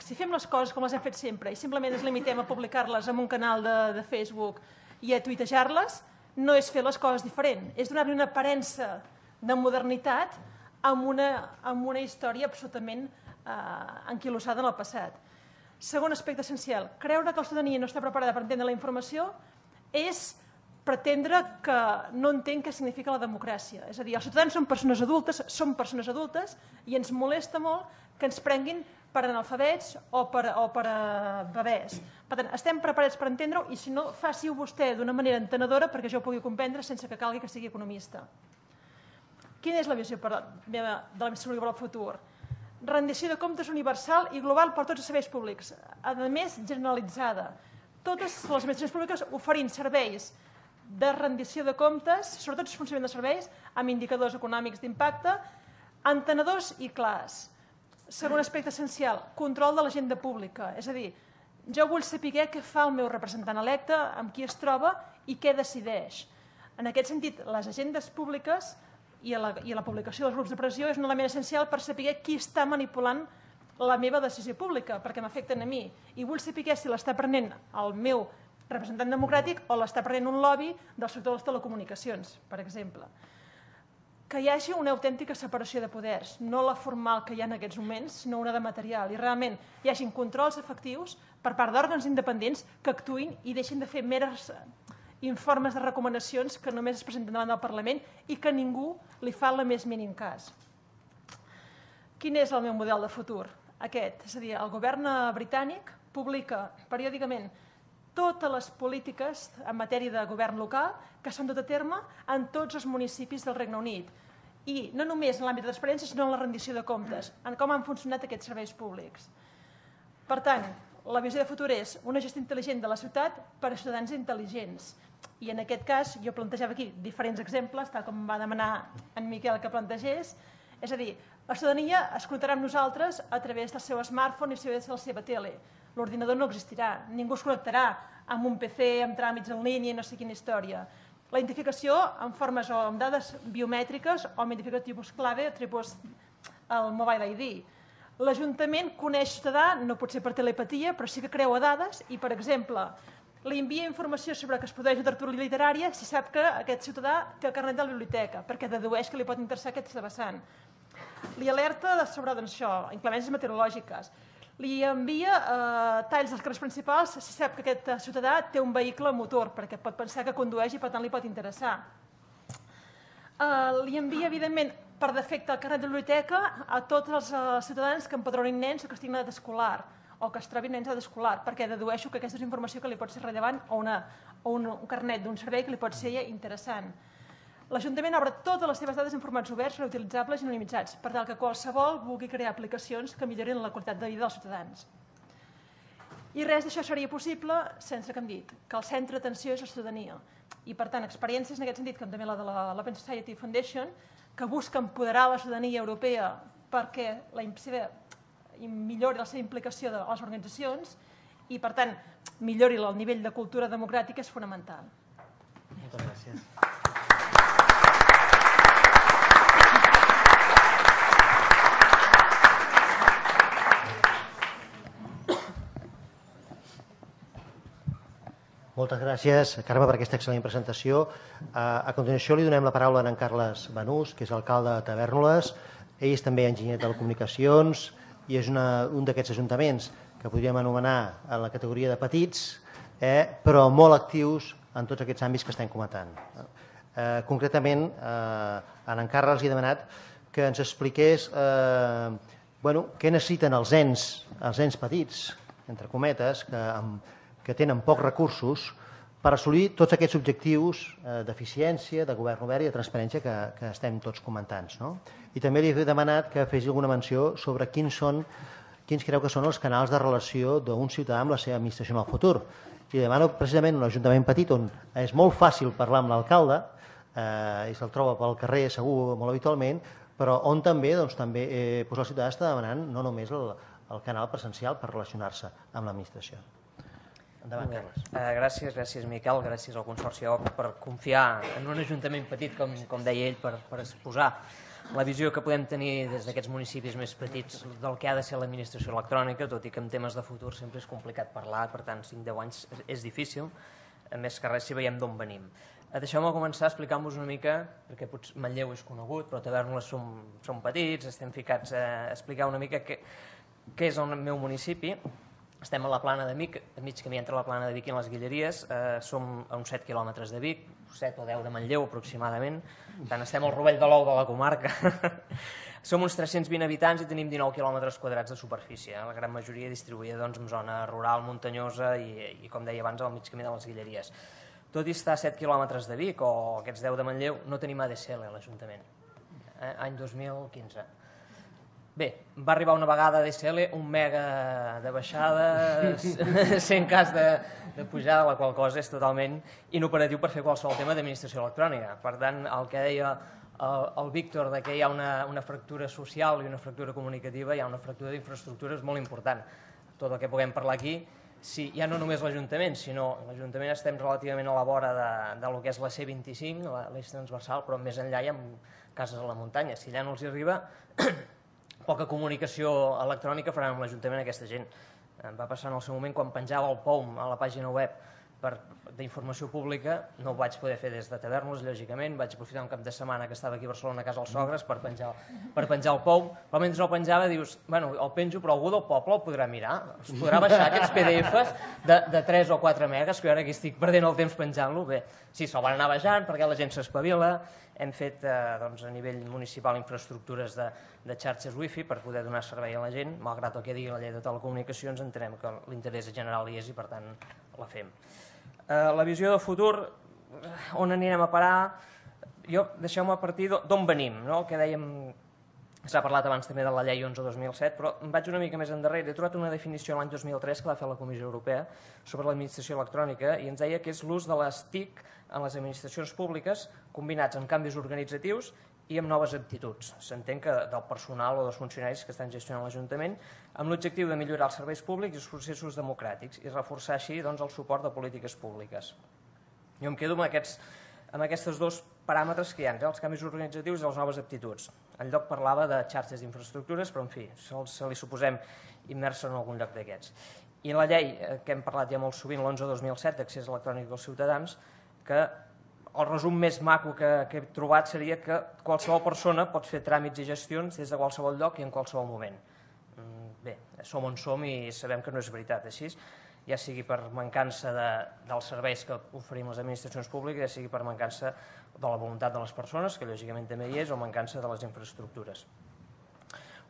si fem les coses com les hem fet sempre i simplement ens limitem a publicar-les en un canal de, de Facebook i a tuitejar-les, no és fer les coses diferent, és donar-li una aparença de modernitat amb una, amb una història absolutament uh, anquilosada en el passat. Segon aspecte essencial, creure que la ciutadania no està preparada per entendre la informació és pretendre que no entén què significa la democràcia. És a dir, els ciutadans són persones adultes, són persones adultes i ens molesta molt que ens prenguin per analfabets o per, o per uh, bebès. Per tant, estem preparats per entendre-ho i si no, faci-ho vostè d'una manera entenedora perquè jo ho pugui comprendre sense que calgui que sigui economista. Quina és la visió per, meva, de l'administració pública per al futur? Rendició de comptes universal i global per tots els serveis públics, a més generalitzada. Totes les administracions públiques oferint serveis de rendició de comptes, sobretot el funcionament de serveis, amb indicadors econòmics d'impacte, entenedors i clars. Segon aspecte essencial, control de l'agenda pública. És a dir, jo vull saber què fa el meu representant electe, amb qui es troba i què decideix. En aquest sentit, les agendes públiques i la, i la publicació dels grups de pressió és un element essencial per saber qui està manipulant la meva decisió pública, perquè m'afecten a mi. I vull saber si l'està prenent el meu representant democràtic o l'està prenent un lobby del sector de les telecomunicacions, per exemple. Que hi hagi una autèntica separació de poders, no la formal que hi ha en aquests moments, sinó una de material, i realment hi hagin controls efectius per part d'òrgans independents que actuïn i deixin de fer meres informes de recomanacions que només es presenten davant del Parlament i que ningú li fa el més mínim cas. Quin és el meu model de futur? Aquest, és a dir, el govern britànic publica periòdicament totes les polítiques en matèria de govern local que s'han dut a terme en tots els municipis del Regne Unit. I no només en l'àmbit de transparència, sinó en la rendició de comptes, en com han funcionat aquests serveis públics. Per tant, la visió de futur és una gestió intel·ligent de la ciutat per a ciutadans intel·ligents. I en aquest cas, jo plantejava aquí diferents exemples, tal com va demanar en Miquel que plantegés. És a dir, la ciutadania es connectarà amb nosaltres a través del seu smartphone i a través de la seva tele. L'ordinador no existirà, ningú es connectarà amb un P C, amb tràmits en línia i no sé quina història. La identificació en formes o amb dades biomètriques o amb identificació tipus clave o tipus el Mobile I D. L'Ajuntament coneix ciutadà, no pot ser per telepatia, però sí que creua dades i, per exemple, li envia informació sobre que es produeix una tertúlia literària si sap que aquest ciutadà té el carnet de la biblioteca, perquè dedueix que li pot interessar aquesta vessant. Li alerta sobre doncs, això, inclemències meteorològiques. Li envia eh, talls dels carrers principals si sap que aquest ciutadà té un vehicle motor, perquè pot pensar que condueix i per tant li pot interessar. Eh, li envia, evidentment, per defecte el carnet de biblioteca a tots els eh, ciutadans que empadronin nens o que estiguin en edat escolar o que es trobin nens en edat escolar, perquè dedueixo que aquesta és informació que li pot ser rellevant o, una, o un, un carnet d'un servei que li pot ser interessant. L'Ajuntament obre totes les seves dades en formats oberts, reutilitzables i anonimitzats, per tal que qualsevol vulgui crear aplicacions que millorin la qualitat de vida dels ciutadans. I res d'això seria possible sense que hem dit que el centre d'atenció és la ciutadania. I, per tant, experiències en aquest sentit, com també la de l'Open Society Foundation, que busca empoderar la ciutadania europea perquè la seva, millori la seva implicació de les organitzacions i, per tant, millori el nivell de cultura democràtica és fonamental. Moltes gràcies. Moltes gràcies, Carme, per aquesta excel·lent presentació. A continuació li donem la paraula a en Carles Banús, que és alcalde de Tavèrnoles. Ell és també enginyer de telecomunicacions i és una, un d'aquests ajuntaments que podríem anomenar en la categoria de petits, eh, però molt actius en tots aquests àmbits que estem comentant. Eh, concretament, eh, en Carles li he demanat que ens expliqués eh, bueno, què necessiten els ens, els ens petits, entre cometes, que amb que tenen pocs recursos per assolir tots aquests objectius eh, d'eficiència, de govern obert i de transparència que, que estem tots comentant. No? I també li he demanat que fes alguna menció sobre quins, són, quins creu que són els canals de relació d'un ciutadà amb la seva administració en el futur. I demano precisament un ajuntament petit on és molt fàcil parlar amb l'alcalde, eh, i se'l troba pel carrer segur molt habitualment, però on també, doncs, també eh, doncs el ciutadà està demanant no només el, el canal presencial per relacionar-se amb l'administració. Endavant, Carles. Uh, gràcies, gràcies Miquel, gràcies al Consorci O C per confiar en un ajuntament petit, com, com deia ell, per, per exposar la visió que podem tenir des d'aquests municipis més petits del que ha de ser l'administració electrònica, tot i que en temes de futur sempre és complicat parlar, per tant cinc a deu anys és difícil, a més que res si veiem d'on venim. Uh, Deixeu-me començar explicant-vos una mica, perquè potser Manlleu és conegut, però Tavèrnoles som, som petits, estem ficats a explicar una mica què, què és el meu municipi. Estem a la Plana de Vic, a mig camí entre la Plana de Vic i les Guilleries, eh, som a uns set quilòmetres de Vic, set o deu de Manlleu aproximadament, per tant estem al rovell de l'ou de la comarca. Som uns tres-cents vint habitants i tenim dinou quilòmetres quadrats de superfície, la gran majoria distribuïda doncs, en zona rural, muntanyosa i, i com deia abans, al mig camí de les Guilleries. Tot i estar a set quilòmetres de Vic o aquests deu de Manlleu, no tenim A D S L a l'Ajuntament, eh, any dos mil quinze. Bé, va arribar una vegada a D S L, un mega de baixada, cent cas de, de pujada, la qual cosa és totalment inoperatiu per fer qualsevol tema d'administració electrònica. Per tant, el que deia el, el Víctor, de que hi ha una, una fractura social i una fractura comunicativa, hi ha una fractura d'infraestructures molt important. Tot el que puguem parlar aquí, si, ja no només l'Ajuntament, sinó l'Ajuntament estem relativament a la vora de, de lo que és la C vint-i-cinc, l'eix transversal, però més enllà hi ha cases a la muntanya. Si allà no els hi arriba, poca comunicació electrònica faran amb l'Ajuntament aquesta gent. Em va passar en el seu moment quan penjava el P O M a la pàgina web d'informació pública, no ho vaig poder fer des de Tavèrnoles, lògicament, vaig aprofitar un cap de setmana que estava aquí a Barcelona a casa dels sogres per penjar, per penjar el P O M, però mentre el penjava dius, bueno, el penjo, però algú del poble el podrà mirar, es podrà baixar aquests P D Fs de, de tres o quatre megas, que jo ara aquí estic perdent el temps penjant-lo. Bé, sí, se'l van anar baixant perquè la gent s'espavila, hem fet eh, doncs, a nivell municipal infraestructures de, de xarxes wifi per poder donar servei a la gent, malgrat el que digui la llei de telecomunicacions, entenem que l'interès general hi és i per tant la fem. Eh, la visió de futur, on anirem a parar, jo deixeu-me partir d'on venim, no? El que dèiem, s'ha parlat abans també de la llei onze dos mil set, però em vaig una mica més endarrere, he trobat una definició l'any dos mil tres que va fer la Comissió Europea sobre l'administració electrònica i ens deia que és l'ús de les T I C en les administracions públiques combinats amb canvis organitzatius i amb noves aptituds. S'entén que del personal o dels funcionaris que estan gestionant l'Ajuntament amb l'objectiu de millorar els serveis públics i els processos democràtics i reforçar així doncs, el suport de polítiques públiques. Jo em quedo amb aquests, amb aquests dos paràmetres que hi ha, els canvis organitzatius i les noves aptituds. En lloc parlava de xarxes d'infraestructures, però en fi, se li suposem immersa en algun lloc d'aquests. I la llei, que hem parlat ja molt sovint, l'onze dos mil set d'accés electrònic dels ciutadans, que el resum més maco que he trobat seria que qualsevol persona pot fer tràmits i gestions des de qualsevol lloc i en qualsevol moment. Bé, som on som i sabem que no és veritat així, ja sigui per mancança dels serveis que oferim les administracions públiques, ja sigui per mancança de la voluntat de les persones, que lògicament també hi és, o mancança de les infraestructures.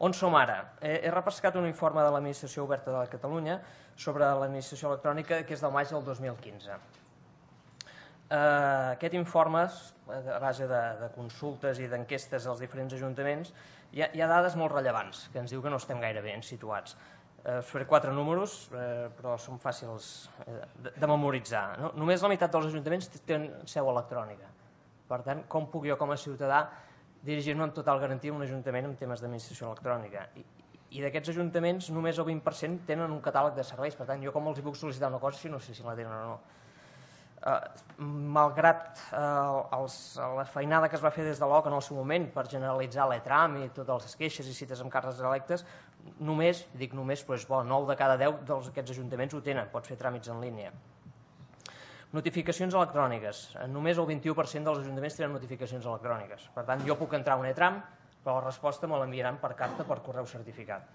On som ara? He repescat un informe de l'Administració Oberta de Catalunya sobre l'administració electrònica que és del maig del dos mil quinze. Aquest informe, a base de consultes i d'enquestes als diferents ajuntaments, hi ha dades molt rellevants que ens diu que no estem gaire ben situats. Us faré quatre números, però són fàcils de memoritzar. Només la meitat dels ajuntaments tenen seu electrònica. Per tant, com puc jo com a ciutadà dirigir-me amb total garantia a un ajuntament en temes d'administració electrònica? I d'aquests ajuntaments només el vint per cent tenen un catàleg de serveis. Per tant, jo com els hi puc sol·licitar una cosa si no sé si la tenen o no. Malgrat la feinada que es va fer des de l'O C en el seu moment per generalitzar l'e-tram i totes les queixes i cites amb càrrecs electes, només, dic només, però és bo, nou de cada deu d'aquests ajuntaments ho tenen, pots fer tràmits en línia. Notificacions electròniques. Només el vint-i-u per cent dels ajuntaments tenen notificacions electròniques. Per tant, jo puc entrar a un e-tram, però la resposta me l'enviaran per carta per correu certificat.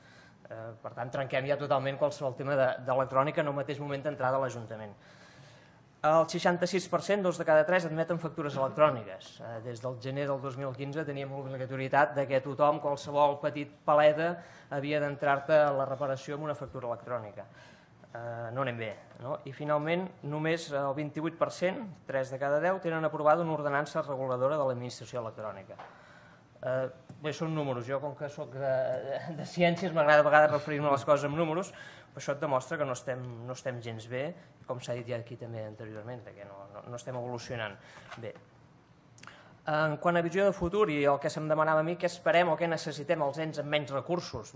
Per tant, trenquem ja totalment qualsevol tema d'electrònica en el mateix moment d'entrada a l'Ajuntament. El seixanta-sis per cent, dos de cada tres, admeten factures electròniques. Des del gener del dos mil quinze teníem l'obligatorietat que tothom, qualsevol petit paleta, havia d'entrar-te a la reparació amb una factura electrònica. No anem bé. I finalment, només el vint-i-vuit per cent, tres de cada deu, tenen aprovada una ordenança reguladora de l'administració electrònica. Bé, són números. Jo, com que soc de ciències, m'agrada a vegades referir-me a les coses amb números, però això et demostra que no estem gens bé, com s'ha dit ja aquí també anteriorment, que no estem evolucionant bé. En quant a visió de futur i el que se'm demanava a mi, què esperem o què necessitem els ens amb menys recursos?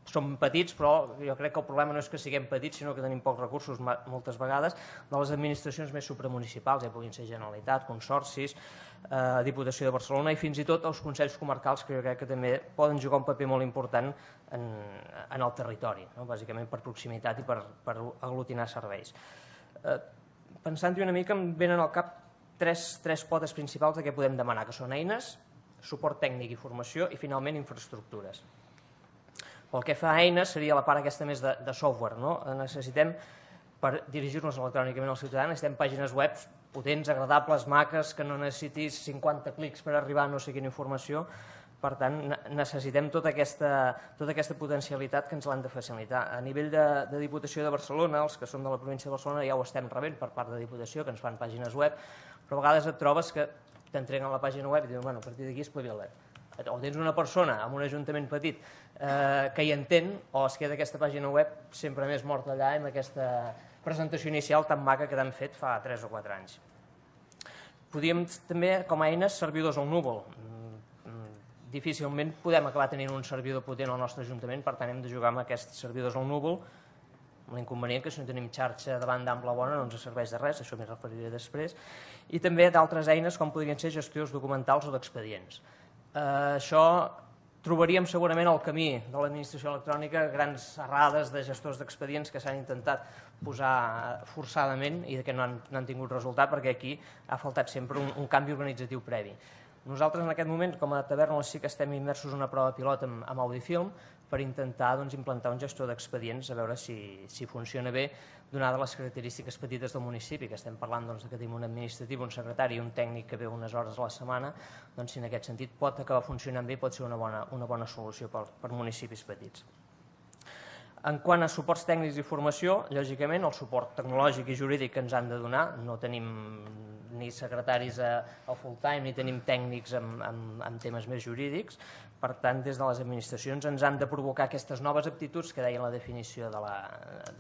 Som petits, però jo crec que el problema no és que siguem petits, sinó que tenim pocs recursos moltes vegades de les administracions més supramunicipals, ja puguin ser Generalitat, consorcis, Diputació de Barcelona i fins i tot els consells comarcals, que jo crec que també poden jugar un paper molt important en el territori, bàsicament per proximitat i per aglutinar serveis. Pensant-hi una mica, em venen al cap tres potes principals de què podem demanar, que són eines, suport tècnic i formació i, finalment, infraestructures. Pel que fa a eines, seria la part aquesta més de software. Necessitem, per dirigir-nos electrònicament als ciutadans, necessitem pàgines web potents, agradables, maques, que no necessitis cinquanta clics per arribar a no sé quina informació. Per tant, necessitem tota aquesta potencialitat que ens l'han de facilitar. A nivell de Diputació de Barcelona, els que som de la província de Barcelona ja ho estem rebent per part de Diputació, que ens fan pàgines web, però a vegades et trobes que t'entreguen la pàgina web i diuen, bueno, a partir d'aquí espavila't. O tens una persona en un ajuntament petit que hi entén, o es queda aquesta pàgina web sempre més morta allà amb aquesta presentació inicial tan maca que t'han fet fa tres o quatre anys. Podríem també, com a eines, servidors al núvol. Difícilment podem acabar tenint un servidor potent al nostre ajuntament, per tant hem de jugar amb aquests servidors al núvol, amb l'inconvenient que si no tenim xarxa de banda ampla bona no ens serveix de res, això m'hi referiré després, i també d'altres eines com podrien ser gestors documentals o d'expedients. Això trobaríem segurament el camí de l'administració electrònica, grans errades de gestors d'expedients que s'han intentat posar forçadament i que no han tingut resultat perquè aquí ha faltat sempre un canvi organitzatiu previ. Nosaltres en aquest moment, com a taverna, sí que estem immersos en una prova pilot amb Audifilm per intentar implantar un gestor d'expedients, a veure si funciona bé, donades les característiques petites del municipi, que estem parlant que tenim un administratiu, un secretari i un tècnic que ve unes hores a la setmana, doncs si en aquest sentit pot acabar funcionant bé, pot ser una bona solució per municipis petits. En quant a suports tècnics i formació, lògicament el suport tecnològic i jurídic que ens han de donar, no tenim ni secretaris a full time ni tenim tècnics en temes més jurídics, per tant des de les administracions ens han de provocar aquestes noves aptituds que deia la definició de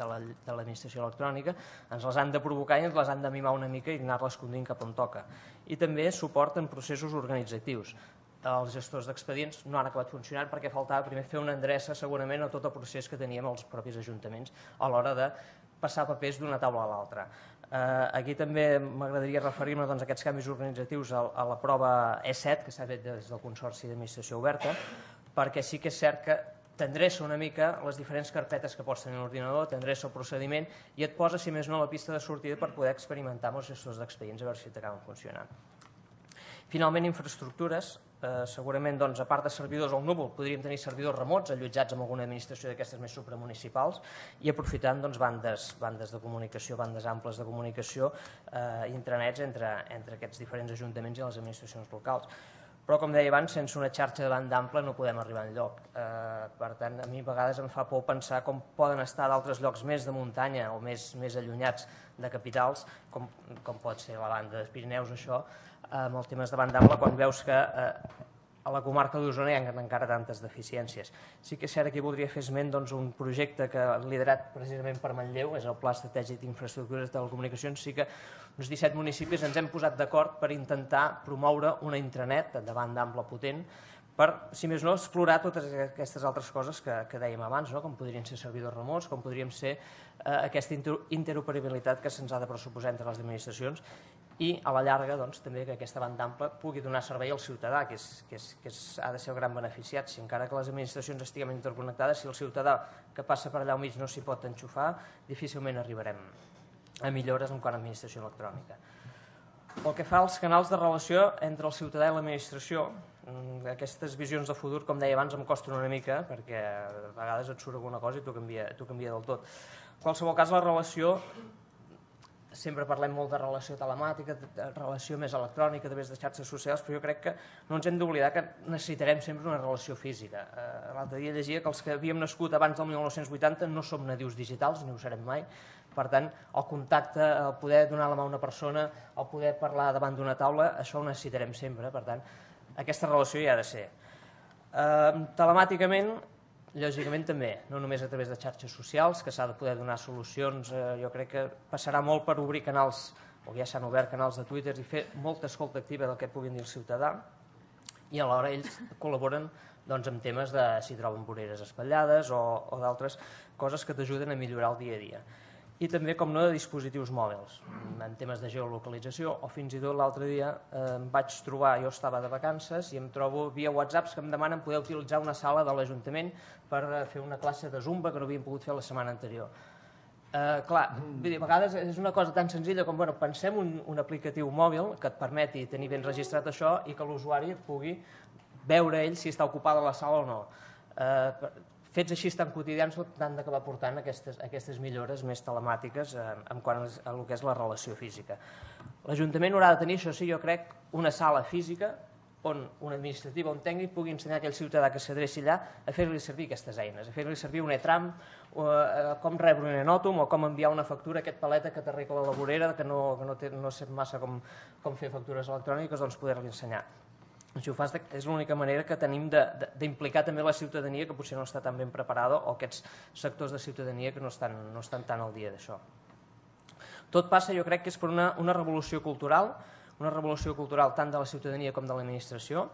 l'administració electrònica, ens les han de provocar i ens les han de mimar una mica i anar-les conduint cap on toca. I també suport en processos organitzatius. Els gestors d'expedients no han acabat funcionant perquè faltava primer fer una endreça segurament a tot el procés que teníem els propis ajuntaments a l'hora de passar papers d'una taula a l'altra. Aquí també m'agradaria referir-me a aquests canvis organitzatius a la prova E set que s'ha fet des del Consorci d'Administració Oberta, perquè sí que és cert que t'endreça una mica les diferents carpetes que pots tenir a l'ordinador, t'endreça el procediment i et posa, si més no, la pista de sortida per poder experimentar amb els gestors d'expedients a veure si t'acaben funcionant. Finalment, infraestructures. Eh, segurament, doncs, a part de servidors al núvol, podríem tenir servidors remots allotjats en alguna administració d'aquestes més supramunicipals i aprofitant doncs, bandes, bandes de comunicació, bandes amples de comunicació i eh, intranets entre, entre aquests diferents ajuntaments i les administracions locals. Però, com deia abans, sense una xarxa de banda ampla no podem arribar enlloc. Eh, per tant, a mi a vegades em fa por pensar com poden estar d'altres llocs més de muntanya o més, més allunyats de capitals, com, com pot ser la banda dels Pirineus, això, amb els temes de banda ampla, quan veus que eh, a la comarca d'Osona hi ha encara tantes deficiències. Sí que és cert que aquí voldria fer esment doncs, un projecte que ha liderat precisament per Manlleu, és el Pla Estratègic d'Infraestructures de Telecomunicacions. Sí que uns disset municipis ens hem posat d'acord per intentar promoure una intranet de banda ampla potent per, si més no, explorar totes aquestes altres coses que, que dèiem abans, no? Com podrien ser servidors remots, com podríem ser eh, aquesta interoperabilitat que se'ns ha de pressuposar entre les administracions i a la llarga doncs, també que aquesta banda ampla pugui donar servei al ciutadà, que, és, que, és, que és, ha de ser el gran beneficiat. Si encara que les administracions estiguem interconnectades, si el ciutadà que passa per allà al mig no s'hi pot enxufar, difícilment arribarem a millores en quant a administració electrònica. Pel que fa als canals de relació entre el ciutadà i l'administració, aquestes visions de futur, com deia abans, em costen una mica perquè a vegades et surt alguna cosa i t'ho canvia, t'ho canvia del tot. En qualsevol cas, la relació, sempre parlem molt de relació telemàtica, de relació més electrònica a través de xarxes socials, però jo crec que no ens hem d'oblidar que necessitarem sempre una relació física. L'altre dia llegia que els que havíem nascut abans del mil nou-cents vuitanta no som nadius digitals, ni ho serem mai. Per tant, el contacte, el poder donar la mà a una persona, el poder parlar davant d'una taula, això ho necessitarem sempre. Per tant, aquesta relació hi ha de ser. Eh, telemàticament, lògicament també, no només a través de xarxes socials, que s'ha de poder donar solucions. Eh, jo crec que passarà molt per obrir canals, o ja s'han obert canals de Twitter i fer molta escolta activa del que puguin dir el ciutadà, i alhora ells col·laboren doncs, en temes de si troben voreres espatllades o, o d'altres coses que t'ajuden a millorar el dia a dia. I també, com no, de dispositius mòbils, en temes de geolocalització, o fins i tot l'altre dia eh, em vaig trobar, jo estava de vacances, i em trobo via whatsapps que em demanen poder utilitzar una sala de l'Ajuntament per fer una classe de Zumba que no havien pogut fer la setmana anterior. Eh, clar, a vegades és una cosa tan senzilla com, bueno, pensem un, un aplicatiu mòbil que et permeti tenir ben registrat això i que l'usuari pugui veure ell si està ocupada la sala o no. Eh, Fets així tan quotidians han d'acabar portant aquestes, aquestes millores més telemàtiques eh, en quant a el que és la relació física. L'Ajuntament haurà de tenir, això sí, jo crec, una sala física on un administratiu o un tècnic pugui ensenyar a aquell ciutadà que s'adreci allà a fer-li servir aquestes eines, a fer-li servir un e-tram, o, eh, com rebre un enòtom o com enviar una factura a aquest paleta que t'arregla la vorera, que no, que no, té, no sé massa com, com fer factures electròniques, doncs poder-li ensenyar. Si ho fas, és l'única manera que tenim d'implicar també la ciutadania, que potser no està tan ben preparada, o aquests sectors de ciutadania que no estan, no estan tan al dia d'això. Tot passa, jo crec que és per una, una revolució cultural, una revolució cultural tant de la ciutadania com de l'administració,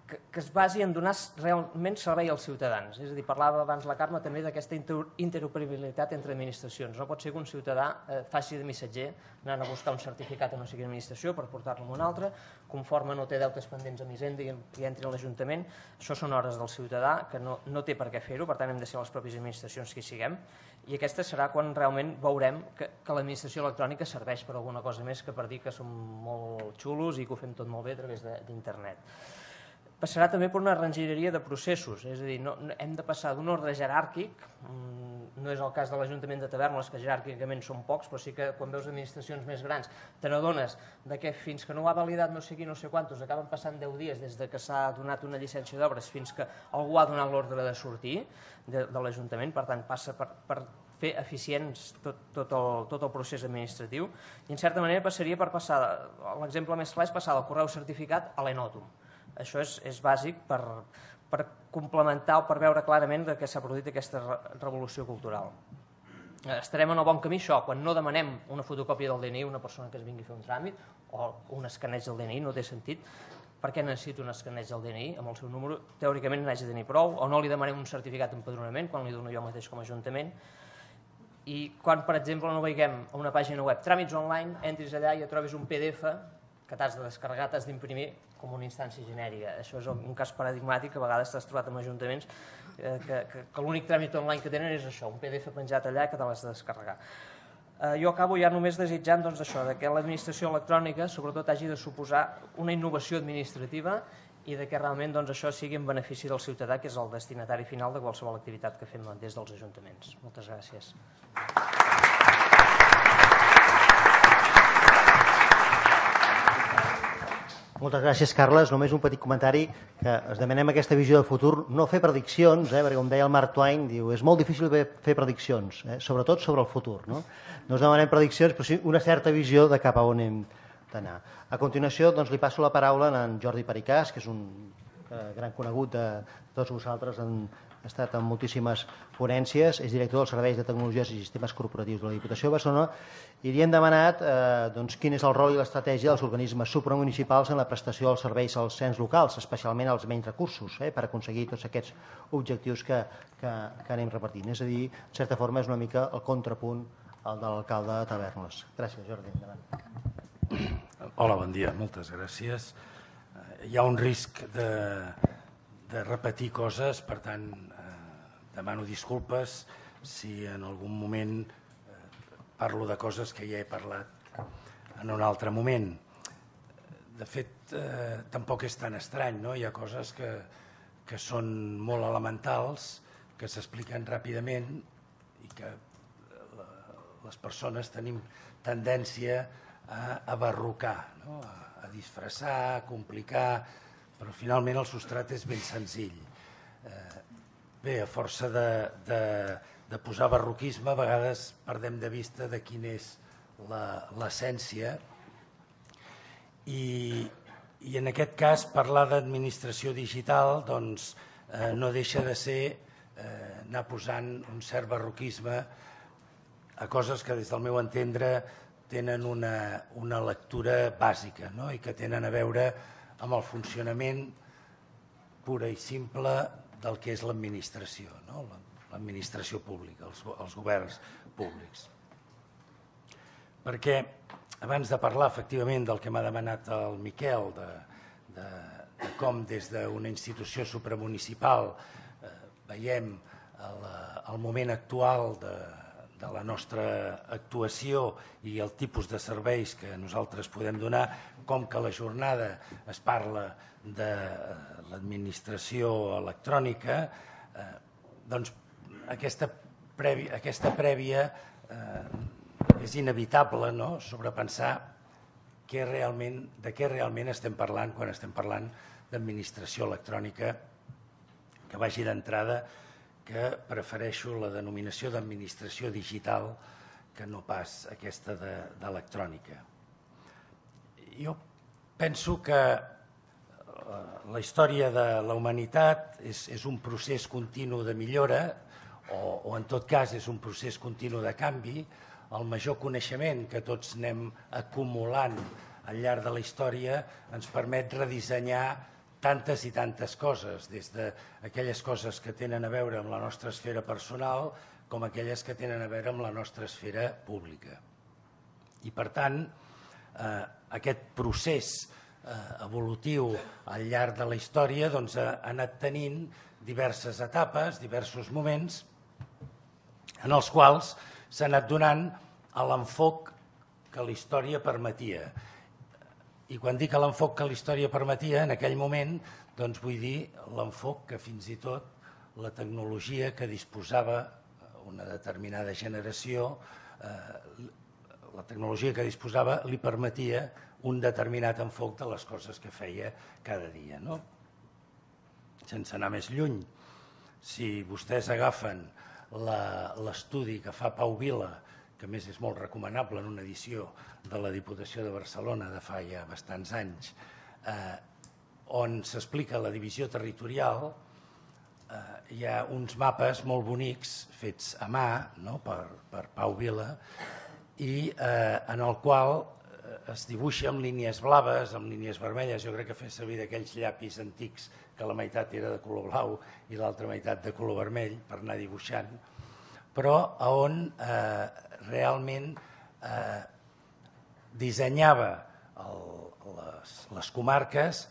que, que es basi en donar realment servei als ciutadans. És a dir, parlava abans la Carme també d'aquesta interoperabilitat entre administracions. No pot ser que un ciutadà eh, faci de missatger anant a buscar un certificat a no sé quina administració per portar-lo a una altra, conforme no té deutes pendents a Hisenda i, i entri a l'Ajuntament. Això són hores del ciutadà que no, no té per què fer-ho, per tant hem de ser les pròpies administracions que hi siguem, i aquesta serà quan realment veurem que, que l'administració electrònica serveix per alguna cosa més que per dir que som molt xulos i que ho fem tot molt bé a través d'internet. Passarà també per una regidoria de processos, és a dir, no, no, hem de passar d'un ordre jeràrquic, no és el cas de l'Ajuntament de Tavèrnoles, que jeràrquicament són pocs, però sí que quan veus administracions més grans te n'adones que fins que no ho ha validat no sé qui, no sé quantos, acaben passant deu dies des de que s'ha donat una llicència d'obres fins que algú ha donat l'ordre de sortir de, de l'Ajuntament, per tant passa per, per fer eficients tot, tot, el, tot el procés administratiu, i en certa manera passaria per passar, l'exemple més clar és passar del correu certificat a l'enòtom. Això és, és bàsic per, per complementar o per veure clarament que s'ha produït aquesta revolució cultural. Estarem en el bon camí, això, quan no demanem una fotocòpia del D N I a una persona que es vingui a fer un tràmit o un escaneig del D N I, no té sentit. Per què necessito un escaneig del D N I amb el seu número? Teòricament n'haig de tenir prou, o no li demanem un certificat d'empadronament quan li dono jo mateix com a Ajuntament. I quan, per exemple, no veiem a una pàgina web tràmits online, entris allà i et trobis un P D F que t'has de descarregar, t'has d'imprimir com una instància genèrica. Això és un cas paradigmàtic que a vegades t'has trobat en ajuntaments que l'únic tràmit online que tenen és això, un P D F penjat allà que te l'has de descarregar. Jo acabo ja només desitjant això, que l'administració electrònica sobretot hagi de suposar una innovació administrativa i que realment això sigui en benefici del ciutadà, que és el destinatari final de qualsevol activitat que fem des dels ajuntaments. Moltes gràcies. Moltes gràcies, Carles. Només un petit comentari, que es demanem aquesta visió de futur, no fer prediccions, perquè com deia el Mark Twain, diu, és molt difícil fer prediccions, sobretot sobre el futur. No us demanem prediccions, però sí una certa visió de cap a on hem d'anar. A continuació, li passo la paraula a en Jordi Pericàs, que és un gran conegut de tots vosaltres, ha estat en moltíssimes ponències, és director dels Serveis de Tecnologies i Sistemes Corporatius de la Diputació de Barcelona, i li hem demanat quin és el rol i l'estratègia dels organismes supramunicipals en la prestació dels serveis als ens locals, especialment als menys recursos, per aconseguir tots aquests objectius que anem repartint. És a dir, en certa forma, és una mica el contrapunt al de l'alcalde de Tavernes. Gràcies, Jordi. Endavant. Hola, bon dia. Moltes gràcies. Hi ha un risc de repetir coses, per tant, demano disculpes si en algun moment parlo de coses que ja he parlat en un altre moment. De fet, tampoc és tan estrany, no? Hi ha coses que són molt elementals, que s'expliquen ràpidament i que les persones tenim tendència a abarrocar, a disfressar, a complicar, però finalment el substrat és ben senzill. Bé, a força de posar barroquisme, a vegades perdem de vista de quina és l'essència i en aquest cas parlar d'administració digital no deixa de ser anar posant un cert barroquisme a coses que des del meu entendre tenen una lectura bàsica i que tenen a veure amb el funcionament pura i simple del que és l'administració, l'administració pública, els governs públics. Perquè abans de parlar efectivament del que m'ha demanat el Miquel, de com des d'una institució supramunicipal veiem el moment actual de la nostra actuació i el tipus de serveis que nosaltres podem donar, com que a la jornada es parla de l'administració electrònica, doncs aquesta prèvia és inevitable sobrepensar de què realment estem parlant quan estem parlant d'administració electrònica, que vagi d'entrada que prefereixo la denominació d'administració digital que no pas aquesta d'electrònica. Jo penso que la història de la humanitat és un procés continu de millora o en tot cas és un procés continu de canvi. El major coneixement que tots anem acumulant al llarg de la història ens permet redissenyar tantes i tantes coses, des d'aquelles coses que tenen a veure amb la nostra esfera personal com aquelles que tenen a veure amb la nostra esfera pública. I per tant, aquest procés evolutiu al llarg de la història ha anat tenint diverses etapes, diversos moments, en els quals s'ha anat donant l'enfoc que la història permetia. I quan dic l'enfoc que la història permetia, en aquell moment, doncs vull dir l'enfoc que fins i tot la tecnologia que disposava una determinada generació, la tecnologia que disposava li permetia un determinat enfoc de les coses que feia cada dia. Sense anar més lluny, si vostès agafen l'estudi que fa Pau Vila, que a més és molt recomanable en una edició de la Diputació de Barcelona de fa ja bastants anys, on s'explica la divisió territorial, hi ha uns mapes molt bonics fets a mà per Pau Vila i en el qual es dibuixa amb línies blaves, amb línies vermelles. Jo crec que feia servir d'aquells llapis antics que la meitat era de color blau i l'altra meitat de color vermell per anar dibuixant, però on realment dissenyava les comarques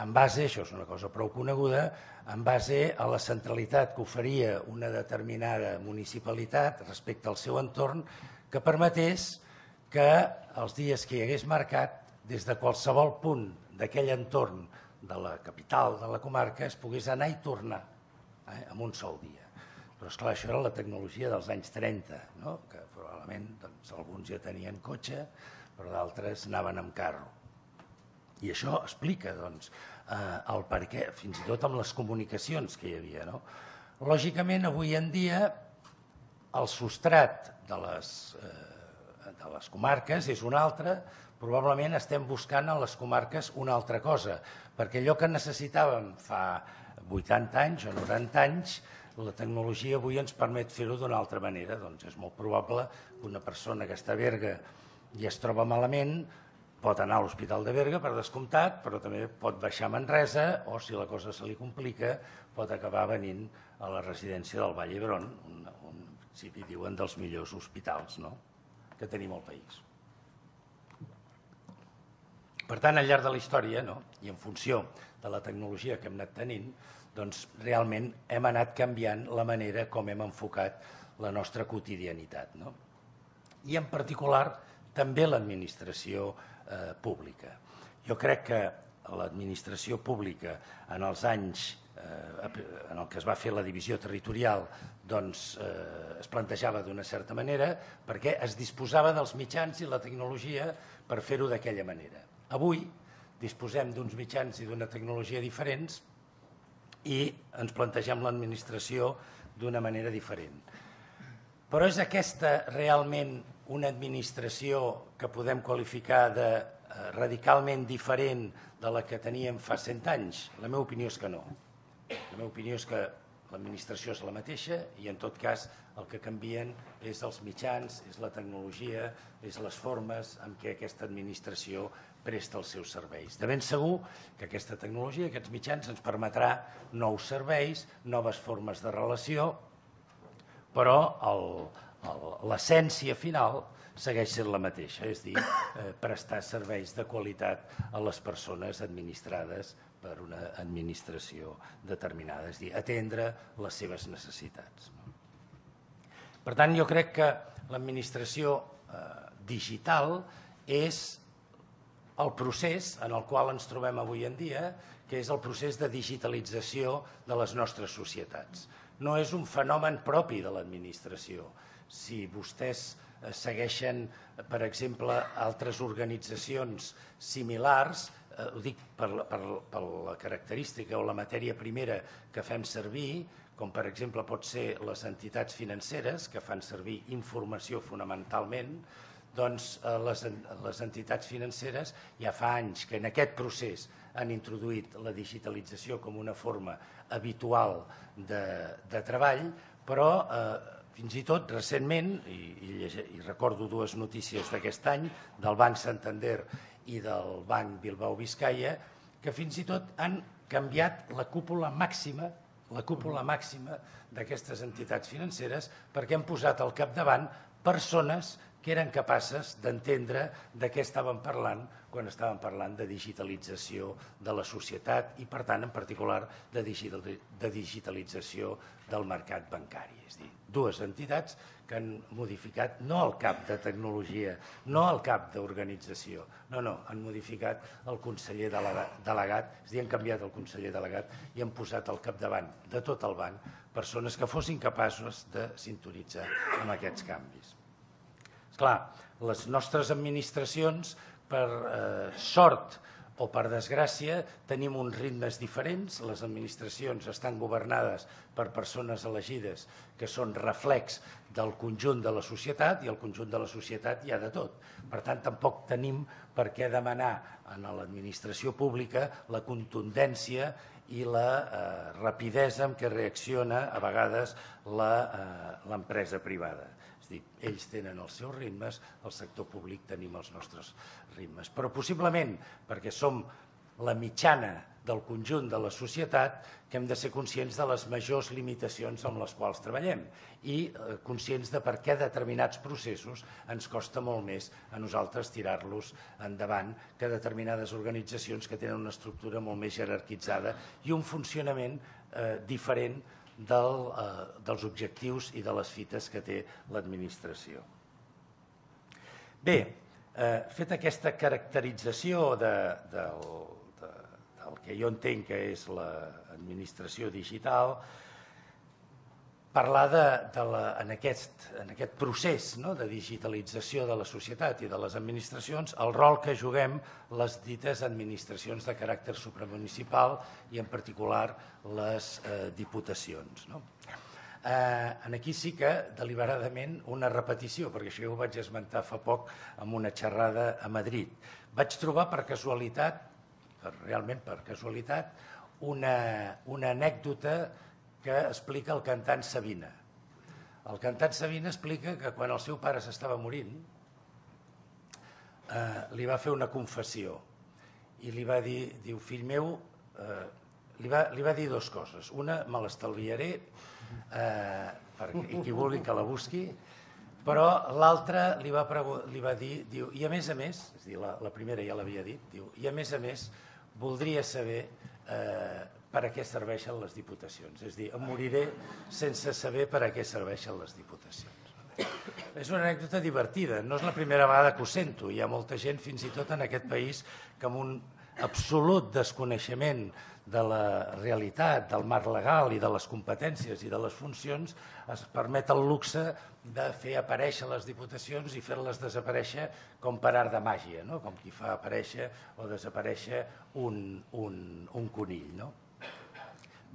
en base, això és una cosa prou coneguda, en base a la centralitat que oferia una determinada municipalitat respecte al seu entorn, que permetés que els dies que hi hagués mercat, des de qualsevol punt d'aquell entorn de la capital de la comarca, es pogués anar i tornar eh, en un sol dia. Però, esclar, això era la tecnologia dels anys trenta, no? Que probablement doncs, alguns ja tenien cotxe, però d'altres anaven amb carro. I això explica doncs, eh, el per què, fins i tot amb les comunicacions que hi havia. No? Lògicament, avui en dia, el substrat de les, eh, de les comarques és un altre, probablement estem buscant a les comarques una altra cosa, perquè allò que necessitàvem fa vuitanta anys o noranta anys, la tecnologia avui ens permet fer-ho d'una altra manera. Doncs és molt probable que una persona que està a Berga i es troba malament pot anar a l'Hospital de Berga, per descomptat, però també pot baixar a Manresa o, si la cosa se li complica, pot acabar venint a la residència del Vall d'Hebron, on, on si hi diuen dels millors hospitals, no? Que tenim al país. Per tant, al llarg de la història, no? I en funció de la tecnologia que hem anat tenint, doncs realment hem anat canviant la manera com hem enfocat la nostra quotidianitat. No? I en particular també l'administració eh, pública. Jo crec que l'administració pública en els anys eh, en el que es va fer la divisió territorial doncs, eh, es plantejava d'una certa manera perquè es disposava dels mitjans i la tecnologia per fer-ho d'aquella manera. Avui disposem d'uns mitjans i d'una tecnologia diferents i ens plantegem l'administració d'una manera diferent. Però és aquesta realment una administració que podem qualificar de radicalment diferent de la que teníem fa cent anys? La meva opinió és que no. La meva opinió és que l'administració és la mateixa i en tot cas el que canvien és els mitjans, és la tecnologia, és les formes en què aquesta administració presta els seus serveis. De ben segur que aquesta tecnologia, aquests mitjans, ens permetrà nous serveis, noves formes de relació, però l'essència final segueix sent la mateixa, és dir, eh, prestar serveis de qualitat a les persones administrades per una administració determinada, és dir, atendre les seves necessitats. Per tant, jo crec que l'administració eh, digital és el procés en el qual ens trobem avui en dia, que és el procés de digitalització de les nostres societats. No és un fenomen propi de l'administració. Si vostès segueixen, per exemple, altres organitzacions similars, eh, ho dic per la, per, per la característica o la matèria primera que fem servir, com per exemple pot ser les entitats financeres, que fan servir informació fonamentalment, doncs les, les entitats financeres ja fa anys que en aquest procés han introduït la digitalització com una forma habitual de, de treball, però eh, fins i tot recentment, i, i, i recordo dues notícies d'aquest any, del Banc Santander i del Banc Bilbao Vizcaya, que fins i tot han canviat la cúpula màxima la cúpula màxima d'aquestes entitats financeres perquè han posat al capdavant persones que eren capaces d'entendre de què estàvem parlant quan estàvem parlant de digitalització de la societat i, per tant, en particular, de digitalització del mercat bancari. És a dir, dues entitats que han modificat no el cap de tecnologia, no el cap d'organització, no, no, han modificat el conseller delegat, és a dir, han canviat el conseller delegat i han posat al capdavant de tot el banc persones que fossin capaços de sintonitzar amb aquests canvis. Esclar, les nostres administracions, per eh, sort o per desgràcia, tenim uns ritmes diferents. Les administracions estan governades per persones elegides que són reflex del conjunt de la societat i el conjunt de la societat hi ha de tot. Per tant, tampoc tenim per què demanar a l'administració pública la contundència i la eh, rapidesa amb què reacciona a vegades l'empresa privada. És dir, ells tenen els seus ritmes, el sector públic tenim els nostres ritmes. Però possiblement perquè som la mitjana del conjunt de la societat que hem de ser conscients de les majors limitacions amb les quals treballem i conscients de per què determinats processos ens costa molt més a nosaltres tirar-los endavant que determinades organitzacions que tenen una estructura molt més jerarquitzada i un funcionament diferent dels objectius i de les fites que té l'administració. Bé, feta aquesta caracterització del que jo entenc que és l'administració digital, parlar en aquest procés de digitalització de la societat i de les administracions, el rol que juguem les dites administracions de caràcter supramunicipal i en particular les diputacions. Aquí sí que deliberadament una repetició, perquè això ho vaig esmentar fa poc en una xerrada a Madrid. Vaig trobar per casualitat, realment per casualitat, una anècdota que explica el cantant Sabina. El cantant Sabina explica que quan el seu pare s'estava morint li va fer una confessió i li va dir, diu, fill meu, li va dir dues coses. Una, me l'estalviaré, i qui vulgui que la busqui, però l'altra li va dir, diu, i a més a més, és a dir, la primera ja l'havia dit, diu, i a més a més voldria saber per a què serveixen les diputacions. És a dir, em moriré sense saber per a què serveixen les diputacions. És una anècdota divertida, no és la primera vegada que ho sento. Hi ha molta gent, fins i tot en aquest país, que amb un absolut desconeixement de la realitat, del marc legal i de les competències i de les funcions es permet el luxe de fer aparèixer les diputacions i fer-les desaparèixer com per art de màgia, com qui fa aparèixer o desaparèixer un conill.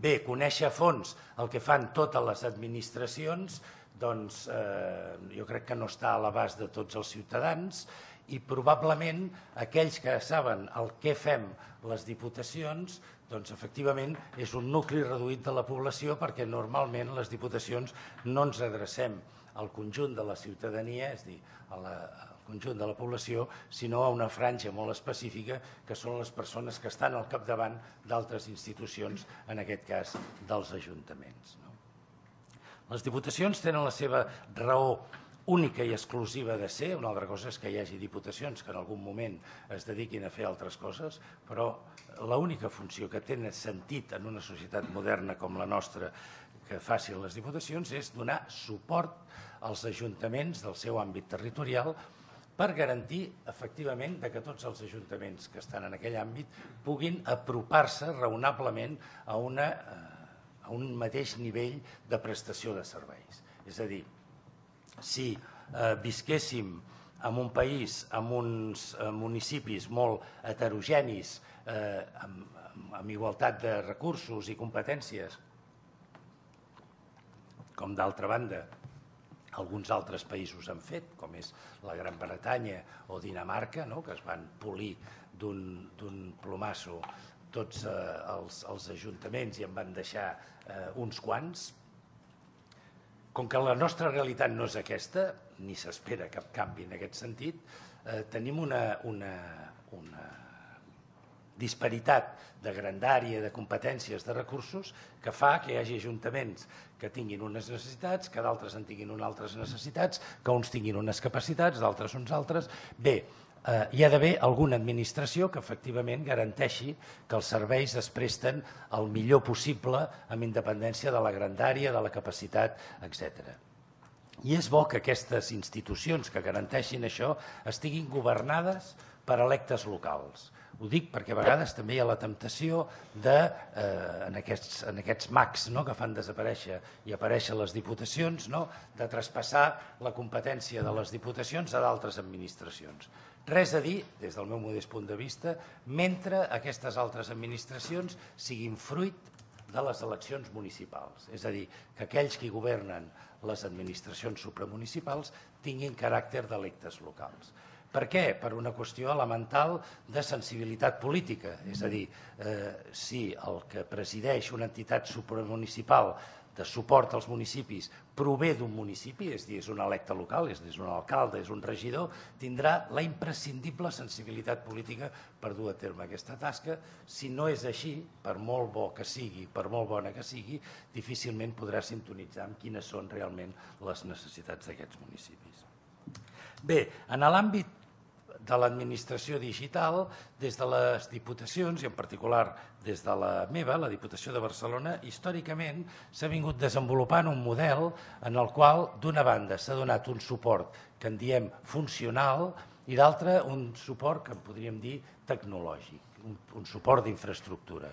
Bé, conèixer a fons el que fan totes les administracions, doncs jo crec que no està a l'abast de tots els ciutadans i probablement aquells que saben el què fem les diputacions, doncs efectivament és un nucli reduït de la població perquè normalment les diputacions no ens adrecem al conjunt de la ciutadania, és a dir, al conjunt de la població, sinó a una franja molt específica que són les persones que estan al capdavant d'altres institucions, en aquest cas dels ajuntaments. Les diputacions tenen la seva raó única i exclusiva de ser, una altra cosa és que hi hagi diputacions que en algun moment es dediquin a fer altres coses, però l'única funció que té sentit en una societat moderna com la nostra que facin les diputacions és donar suport als ajuntaments del seu àmbit territorial per garantir efectivament que tots els ajuntaments que estan en aquell àmbit puguin apropar-se raonablement a un mateix nivell de prestació de serveis. És a dir, si visquéssim en un país amb uns municipis molt heterogenis, amb igualtat de recursos i competències, com d'altra banda alguns altres països han fet, com és la Gran Bretanya o Dinamarca, que es van polir d'un plomasso tots els ajuntaments i en van deixar uns quants. Com que la nostra realitat no és aquesta, ni s'espera cap canvi en aquest sentit, tenim una disparitat de grandària, de competències, de recursos, que fa que hi hagi ajuntaments que tinguin unes necessitats, que d'altres en tinguin unes altres necessitats, que uns tinguin unes capacitats, d'altres uns altres. Bé, hi ha d'haver alguna administració que efectivament garanteixi que els serveis es presten el millor possible amb independència de la grandària, de la capacitat, etcètera. I és bo que aquestes institucions que garanteixin això estiguin governades per electes locals. Ho dic perquè a vegades també hi ha la temptació de, en aquests mags que fan desaparèixer i aparèixer les diputacions, de traspassar la competència de les diputacions a d'altres administracions. Res a dir, des del meu modest punt de vista, mentre aquestes altres administracions siguin fruit de les eleccions municipals. És a dir, que aquells que governen les administracions supramunicipals tinguin caràcter d'electes locals. Per què? Per una qüestió elemental de sensibilitat política. És a dir, si el que presideix una entitat supramunicipal de suport als municipis prové d'un municipi, és a dir, és un electe local, és un alcalde, és un regidor, tindrà la imprescindible sensibilitat política per dur a terme aquesta tasca. Si no és així, per molt bo que sigui, per molt bona que sigui, difícilment podrà sintonitzar amb quines són realment les necessitats d'aquests municipis. Bé, en l'àmbit de l'administració digital, des de les diputacions, i en particular des de la meva, la Diputació de Barcelona, històricament s'ha vingut desenvolupant un model en el qual, d'una banda, s'ha donat un suport que en diem funcional i d'altra un suport que en podríem dir tecnològic, un, un suport d'infraestructura.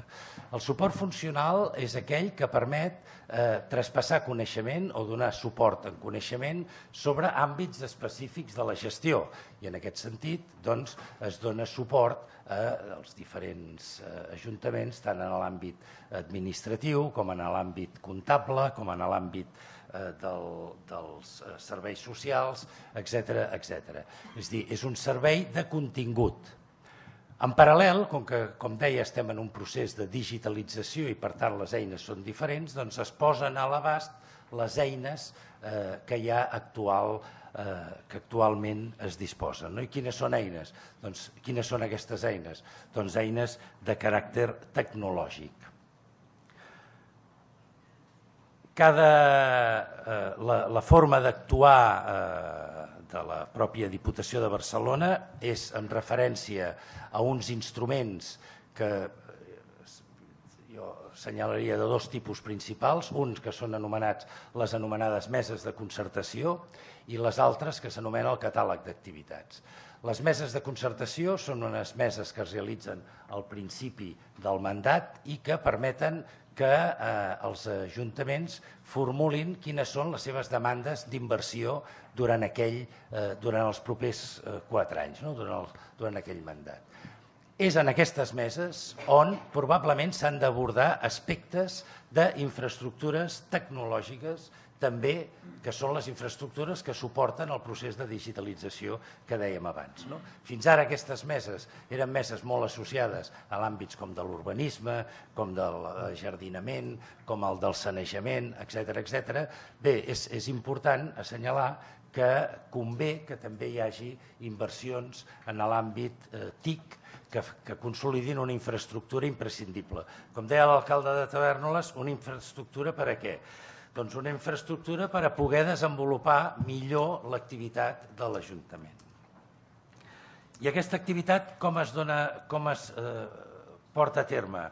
El suport funcional és aquell que permet eh, traspassar coneixement o donar suport en coneixement sobre àmbits específics de la gestió i en aquest sentit doncs, es dona suport als diferents eh, ajuntaments tant en l'àmbit administratiu com en l'àmbit comptable, com en l'àmbit eh, del, dels eh, serveis socials, etcètera, etcètera. És a dir, és un servei de contingut. En paral·lel, com que, com deia, estem en un procés de digitalització i per tant les eines són diferents, doncs es posen a l'abast les eines eh, que hi ha actual, eh, que actualment es disposen. No? I quines són eines? Doncs, quines són aquestes eines? Doncs eines de caràcter tecnològic. Cada, eh, la, la forma d'actuar eh, de la pròpia Diputació de Barcelona és en referència a uns instruments que jo assenyalaria de dos tipus principals, uns que són anomenats les anomenades meses de concertació i les altres que s'anomena el catàleg d'activitats. Les meses de concertació són unes meses que es realitzen al principi del mandat i que permeten que eh, els ajuntaments formulin quines són les seves demandes d'inversió durant, aquell, eh, durant els propers eh, quatre anys, no? durant, el, durant aquell mandat. És en aquestes meses on probablement s'han d'abordar aspectes d'infraestructures tecnològiques també que són les infraestructures que suporten el procés de digitalització que dèiem abans. No? Fins ara aquestes meses eren meses molt associades a l'àmbits com de l'urbanisme, com del jardinament, com el del sanejament, etcètera, etcètera. Bé, és, és important assenyalar que convé que també hi hagi inversions en l'àmbit eh, T I C que, que consolidin una infraestructura imprescindible. Com deia l'alcalde de Tavèrnoles, una infraestructura per a què? Doncs una infraestructura per a poder desenvolupar millor l'activitat de l'Ajuntament. I aquesta activitat com es, dona, com es eh, porta a terme?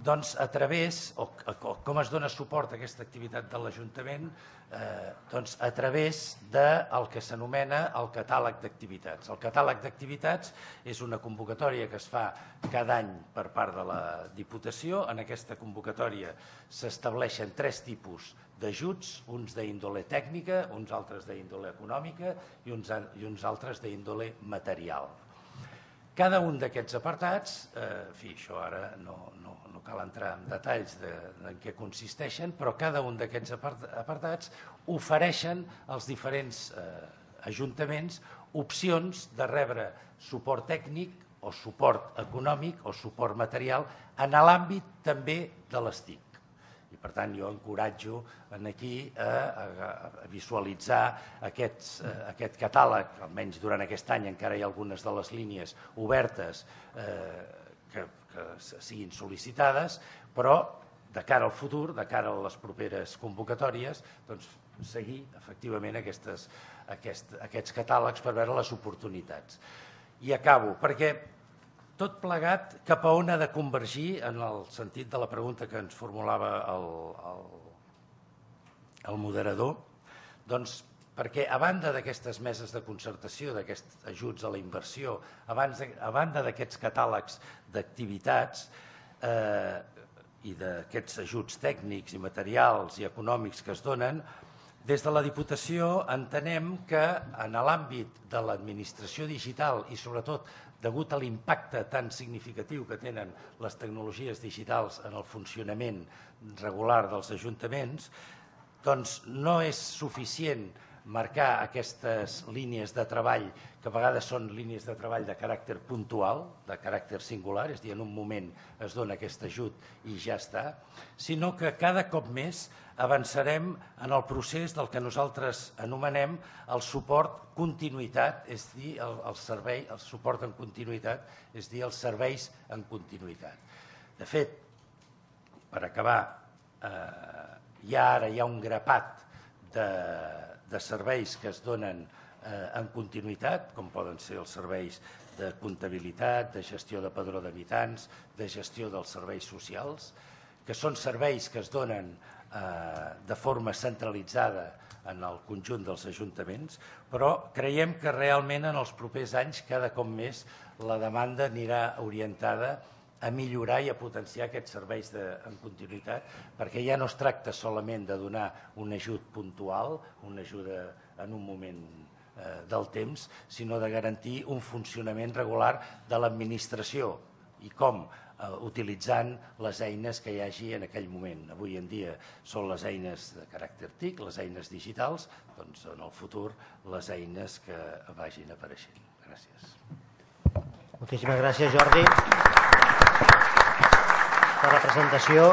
Doncs a través, o, o com es dona suport a aquesta activitat de l'Ajuntament? Eh, doncs a través del que s'anomena el catàleg d'activitats. El catàleg d'activitats és una convocatòria que es fa cada any per part de la Diputació. En aquesta convocatòria s'estableixen tres tipus d'ajuts, uns d'índole tècnica, uns altres d'índole econòmica i uns, i uns altres d'índole material. Cada un d'aquests apartats, eh, en fi, això ara no, no, no cal entrar en detalls de, de en què consisteixen, però cada un d'aquests apartats ofereixen als diferents eh, ajuntaments opcions de rebre suport tècnic o suport econòmic o suport material en l'àmbit també de les T I C. I per tant jo encoratjo aquí a, a, a visualitzar aquests, eh, aquest catàleg, almenys durant aquest any encara hi ha algunes de les línies obertes eh, que, que siguin sol·licitades, però de cara al futur, de cara a les properes convocatòries, doncs seguir efectivament aquestes, aquest, aquests catàlegs per veure les oportunitats. I acabo, perquè tot plegat cap a on ha de convergir en el sentit de la pregunta que ens formulava el, el, el moderador, doncs perquè a banda d'aquestes meses de concertació, d'aquests ajuts a la inversió, abans de, a banda d'aquests catàlegs d'activitats eh, i d'aquests ajuts tècnics i materials i econòmics que es donen, des de la Diputació entenem que en l'àmbit de l'administració digital i sobretot degut a l'impacte tan significatiu que tenen les tecnologies digitals en el funcionament regular dels ajuntaments, doncs no és suficient marcar aquestes línies de treball, que a vegades són línies de treball de caràcter puntual, de caràcter singular, és a dir, en un moment es dona aquest ajut i ja està, sinó que cada cop més avançarem en el procés del que nosaltres anomenem el suport continuïtat, és a dir, el, el servei, el suport en continuïtat, és a dir, els serveis en continuïtat. De fet, per acabar, eh, ja ara hi ha un grapat de, de serveis que es donen eh, en continuïtat, com poden ser els serveis de comptabilitat, de gestió de padró d'habitants, de gestió dels serveis socials, que són serveis que es donen eh, de forma centralitzada en el conjunt dels ajuntaments, però creiem que realment en els propers anys cada cop més la demanda anirà orientada a millorar i a potenciar aquests serveis de, en continuïtat, perquè ja no es tracta solament de donar un ajut puntual, una ajuda en un moment eh, del temps, sinó de garantir un funcionament regular de l'administració i com, eh, utilitzant les eines que hi hagi en aquell moment. Avui en dia són les eines de caràcter T I C, les eines digitals, doncs en el futur les eines que vagin apareixent. Gràcies. Moltíssimes gràcies, Jordi, per la presentació.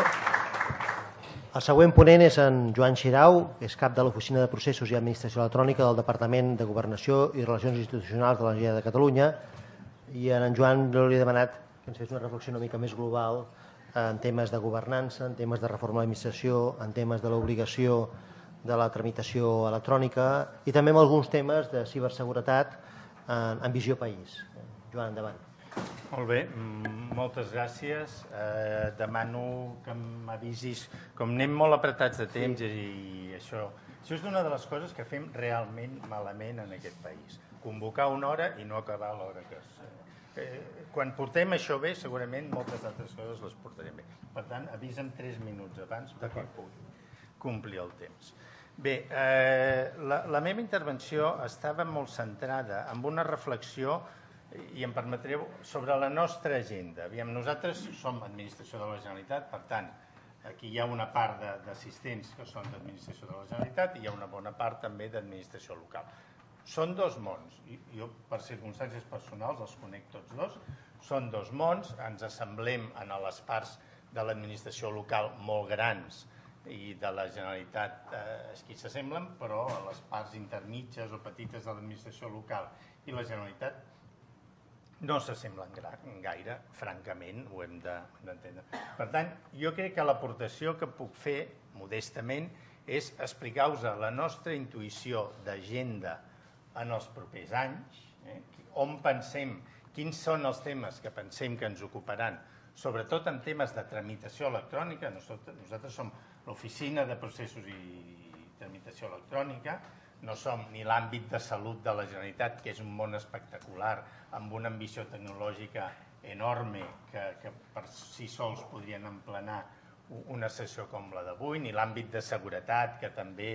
El següent ponent és en Joan Xirau, que és cap de l'Oficina de Processos i Administració Electrònica del Departament de Governació i Relacions Institucionals de la Generalitat de Catalunya. I en Joan li he demanat que ens fes una reflexió una mica més global en temes de governança, en temes de reforma de l'administració, en temes de l'obligació de la tramitació electrònica i també en alguns temes de ciberseguretat en, en visió país. Joan, endavant. Molt bé, moltes gràcies. Eh, demano que m'avisis, com anem molt apretats de temps sí. i això, això és una de les coses que fem realment malament en aquest país. Convocar una hora i no acabar l'hora que és. Eh, quan portem això bé, segurament moltes altres coses les portarem bé. Per tant, avisa'm tres minuts abans perquè pugui complir el temps. Bé, eh, la, la meva intervenció estava molt centrada en una reflexió i em permetreu, sobre la nostra agenda. Aviam, nosaltres som administració de la Generalitat, per tant, aquí hi ha una part d'assistents que són d'administració de la Generalitat i hi ha una bona part també d'administració local. Són dos mons, i jo per circumstàncies personals els conec tots dos, són dos mons, ens assemblem en les parts de l'administració local molt grans i de la Generalitat eh, és qui s'assemblen, però a les parts intermitges o petites de l'administració local i la Generalitat no s'assemblen gaire, francament, ho hem d'entendre. Per tant, jo crec que l'aportació que puc fer, modestament, és explicar-vos la nostra intuïció d'agenda en els propers anys, eh? on pensem, quins són els temes que pensem que ens ocuparan, sobretot en temes de tramitació electrònica. Nosaltres, nosaltres som l'Oficina de Processos i Tramitació Electrònica, no som ni l'àmbit de salut de la Generalitat, que és un món espectacular, amb una ambició tecnològica enorme, que, que per si sols podrien emplenar una sessió com la d'avui, ni l'àmbit de seguretat, que també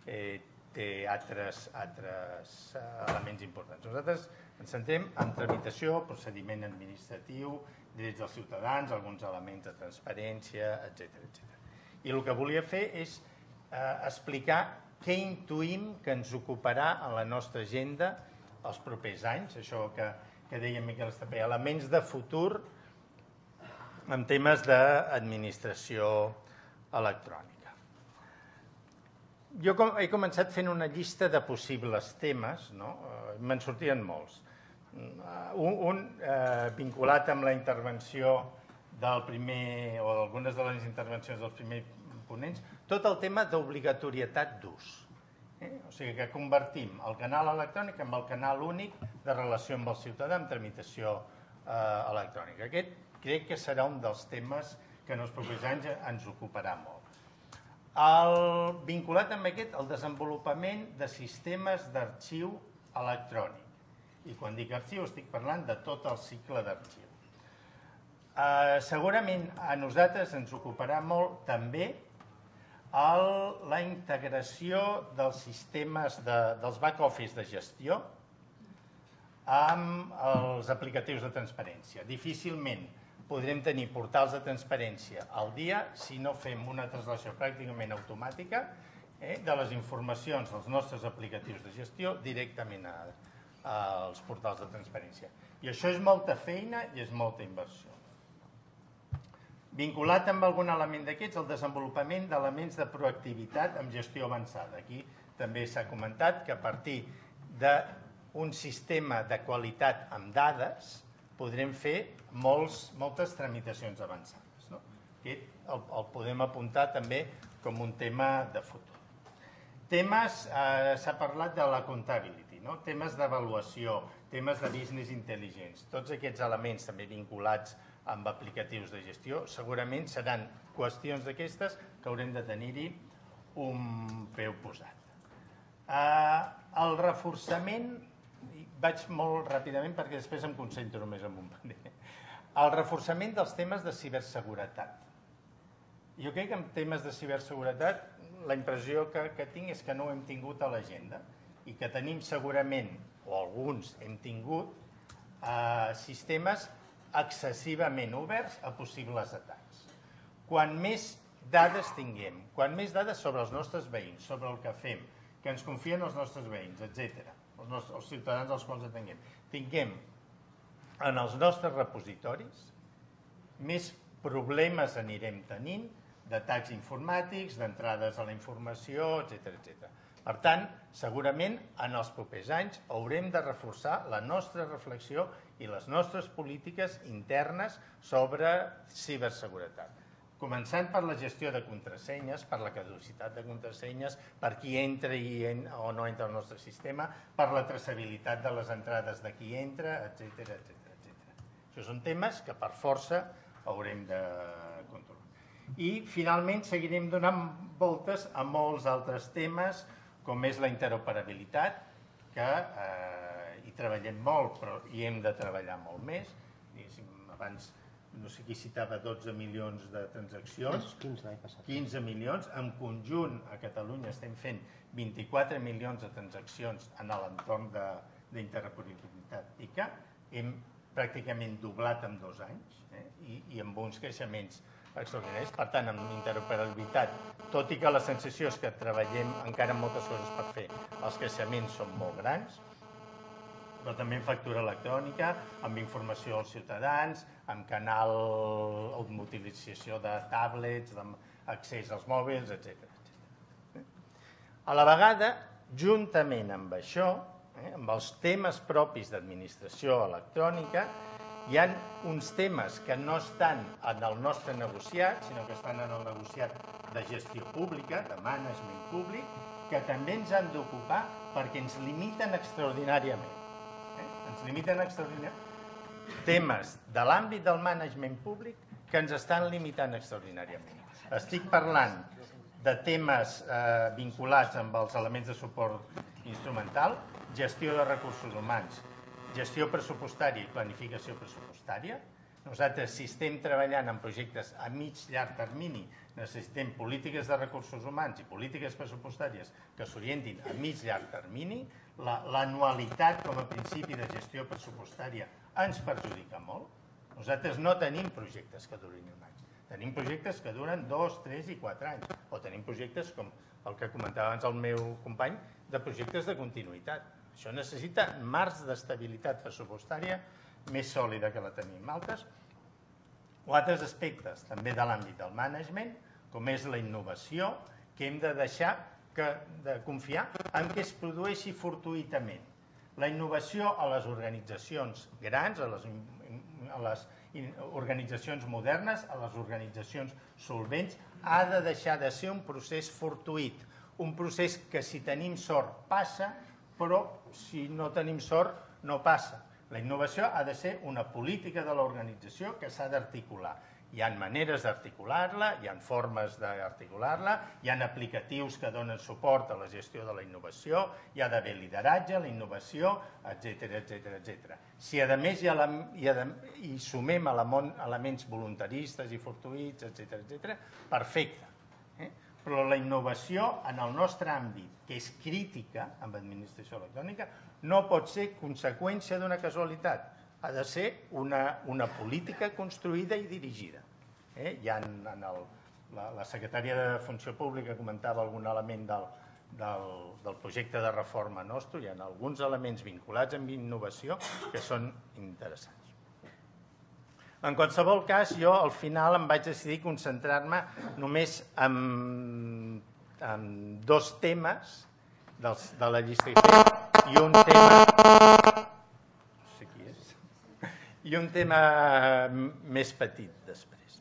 eh, té altres, altres elements importants. Nosaltres ens centrem en tramitació, procediment administratiu, drets dels ciutadans, alguns elements de transparència, etcètera, etcètera. I el que volia fer és eh, explicar què intuïm que ens ocuparà en la nostra agenda els propers anys, això que, que deia Miquel Estapé, elements de futur en temes d'administració electrònica. Jo com, he començat fent una llista de possibles temes, no? eh, me'n sortien molts. Un, un eh, vinculat amb la intervenció del primer, o d'algunes de les intervencions dels primers ponents, tot el tema d'obligatorietat d'ús. Eh? O sigui que convertim el canal electrònic en el canal únic de relació amb el ciutadà en tramitació eh, electrònica. Aquest crec que serà un dels temes que en els propers anys ens ocuparà molt. El, vinculat amb aquest, el desenvolupament de sistemes d'arxiu electrònic. I quan dic arxiu estic parlant de tot el cicle d'arxiu. Eh, segurament a nosaltres ens ocuparà molt també el, la integració dels sistemes de, dels back-office de gestió amb els aplicatius de transparència. Difícilment podrem tenir portals de transparència al dia si no fem una translació pràcticament automàtica de les informacions dels nostres aplicatius de gestió directament als portals de transparència. I això és molta feina i és molta inversió. Vinculat amb algun element d'aquests, el desenvolupament d'elements de proactivitat amb gestió avançada. Aquí també s'ha comentat que a partir d'un sistema de qualitat amb dades podrem fer moltes tramitacions avançades. Aquest el podem apuntar també com un tema de futur. Temes, s'ha parlat de la comptability, temes d'avaluació, temes de business intelligence, tots aquests elements també vinculats amb aplicatius de gestió, segurament seran qüestions d'aquestes que haurem de tenir-hi un peu posat. El reforçament, vaig molt ràpidament perquè després em concentro només en un panell, el reforçament dels temes de ciberseguretat. Jo crec que en temes de ciberseguretat la impressió que tinc és que no ho hem tingut a l'agenda i que tenim segurament, o alguns hem tingut, sistemes excessivament oberts a possibles atacs. Quan més dades tinguem, quan més dades sobre els nostres veïns, sobre el que fem, que ens confien els nostres veïns, etcètera, els ciutadans als quals atenguem, tinguem en els nostres repositoris, més problemes anirem tenint d'atacs informàtics, d'entrades a la informació, etcètera. Per tant, segurament en els propers anys haurem de reforçar la nostra reflexió i les nostres polítiques internes sobre ciberseguretat. Començant per la gestió de contrasenyes, per la caducitat de contrasenyes, per qui entra o no entra al nostre sistema, per la traçabilitat de les entrades de qui entra, etcètera. Això són temes que per força haurem de controlar. I finalment seguirem donant voltes a molts altres temes, com és la interoperabilitat, que hi treballem molt, però hi hem de treballar molt més. Abans, no sé qui citava dotze milions de transaccions, quinze milions. En conjunt, a Catalunya estem fent vint-i-quatre milions de transaccions en l'entorn d'interoperabilitat I C A. Hem pràcticament doblat en dos anys i amb uns creixements extraordinaris. Per tant, amb interoperabilitat, tot i que la sensació és que treballem encara moltes coses per fer, els creixements són molt grans, però també en factura electrònica, amb informació als ciutadans, amb canal d'utilització de tablets, d'accés als mòbils, etcètera. A la vegada, juntament amb això, amb els temes propis d'administració electrònica, hi ha uns temes que no estan en el nostre negociat, sinó que estan en el negociat de gestió pública, de management públic, que també ens han d'ocupar perquè ens limiten extraordinàriament. Ens limiten extraordinàriament. Temes de l'àmbit del management públic que ens estan limitant extraordinàriament. Estic parlant de temes vinculats amb els elements de suport instrumental, gestió de recursos humans, gestió pressupostària i planificació pressupostària. Nosaltres, si estem treballant en projectes a mig llarg termini, necessitem polítiques de recursos humans i polítiques pressupostàries que s'orientin a mig llarg termini. L'anualitat com a principi de gestió pressupostària ens perjudica molt. Nosaltres no tenim projectes que durin un any. Tenim projectes que duren dos, tres i quatre anys. O tenim projectes, com el que comentava abans el meu company, de projectes de continuïtat. Això necessita marcs d'estabilitat pressupostària més sòlida que la tenim altres, o altres aspectes també de l'àmbit del management, com és la innovació, que hem de deixar de confiar en què es produeixi fortuïtament. La innovació a les organitzacions grans, a les organitzacions modernes, a les organitzacions solvents, ha de deixar de ser un procés fortuït, un procés que si tenim sort passa, però si no tenim sort no passa. La innovació ha de ser una política de l'organització que s'ha d'articular. Hi ha maneres d'articular-la, hi ha formes d'articular-la, hi ha aplicatius que donen suport a la gestió de la innovació, hi ha d'haver lideratge, la innovació, etcètera, etcètera. Si a més hi sumem elements voluntaristes i fortuïts, etcètera, etcètera, perfecte. Però la innovació en el nostre àmbit, que és crítica amb administració electrònica, no pot ser conseqüència d'una casualitat. Ha de ser una política construïda i dirigida. Hi ha en la, la secretària de Funció Pública comentava algun element del, del, del projecte de reforma nostre, hi ha alguns elements vinculats amb innovació que són interessants. En qualsevol cas, jo al final em vaig decidir concentrar-me només en, en dos temes dels, de la llista que he fet i un tema... No sé qui és. I un tema més petit després.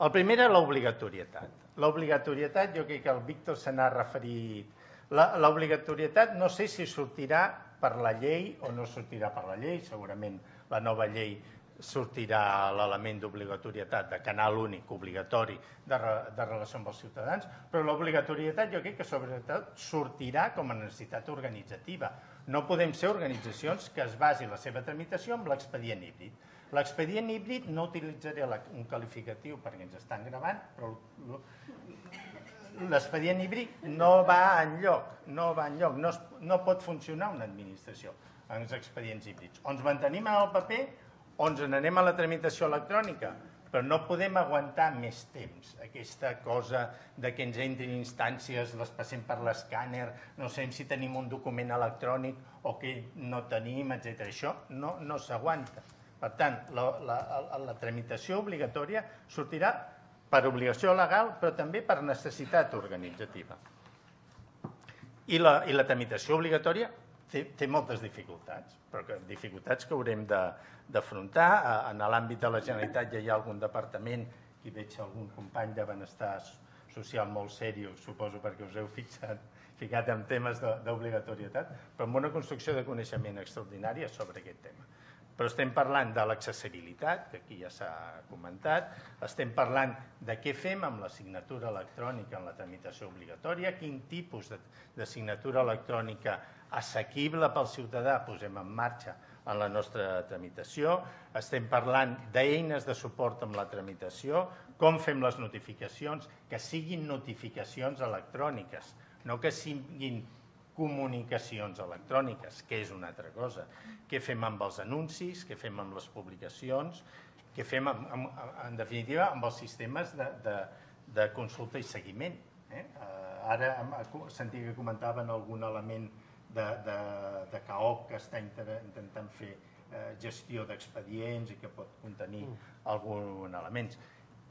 El primer era l'obligatorietat. L'obligatorietat, jo crec que el Víctor se n'ha referit. L'obligatorietat no sé si sortirà per la llei o no sortirà per la llei, segurament la nova llei sortirà l'element d'obligatorietat, de canal únic obligatori de, re, de relació amb els ciutadans, però l'obligatorietat jo crec que sobretot sortirà com a necessitat organitzativa. No podem ser organitzacions que es basi la seva tramitació amb l'expedient híbrid. L'expedient híbrid, no utilitzaré la, un qualificatiu perquè ens estan gravant, però l'expedient híbrid no va enlloc, no va enlloc, no, es, no pot funcionar una administració amb els expedients híbrids. O ens mantenim en el paper o ens n'anem a la tramitació electrònica, però no podem aguantar més temps. Aquesta cosa de que ens entrin instàncies, les passem per l'escàner, no sabem si tenim un document electrònic o que no tenim, etcètera. Això no, no s'aguanta. Per tant, la, la, la tramitació obligatòria sortirà per obligació legal, però també per necessitat organitzativa. I la, i la tramitació obligatòria té, té moltes dificultats, però que, dificultats que haurem d'afrontar. En l'àmbit de la Generalitat ja hi ha algun departament, i veig algun company de benestar social molt seriós, suposo perquè us heu fixat, ficat en temes d'obligatorietat, però amb una construcció de coneixement extraordinària sobre aquest tema. Però estem parlant de l'accessibilitat, que aquí ja s'ha comentat, estem parlant de què fem amb la signatura electrònica en la tramitació obligatòria, quin tipus de, de signatura electrònica assequible pel ciutadà posem en marxa en la nostra tramitació, estem parlant d'eines de suport amb la tramitació, com fem les notificacions, que siguin notificacions electròniques, no que siguin comunicacions electròniques, que és una altra cosa. Què fem amb els anuncis, què fem amb les publicacions, què fem, amb, amb, en definitiva, amb els sistemes de, de, de consulta i seguiment. Eh? Ara sentia que comentaven algun element de, de, de C A O P que està intentant fer eh, gestió d'expedients i que pot contenir alguns elements.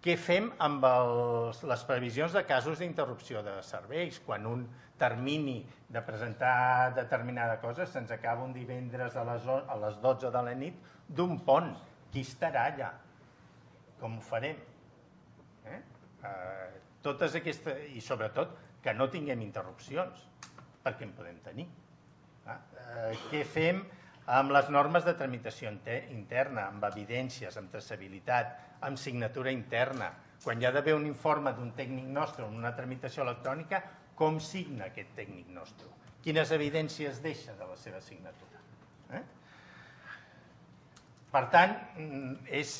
Què fem amb els, les previsions de casos d'interrupció de serveis? Quan un termini de presentar determinada cosa se'ns acaba un divendres a les, a les dotze de la nit d'un pont. Qui estarà allà? Com ho farem? Eh? Eh, totes aquestes, i sobretot que no tinguem interrupcions, perquè en podem tenir. Eh? Eh, què fem amb les normes de tramitació interna, amb evidències, amb traçabilitat, amb signatura interna? Quan hi ha d'haver un informe d'un tècnic nostre en una tramitació electrònica, com signa aquest tècnic nostre? Quines evidències deixa de la seva signatura? Eh? Per tant, és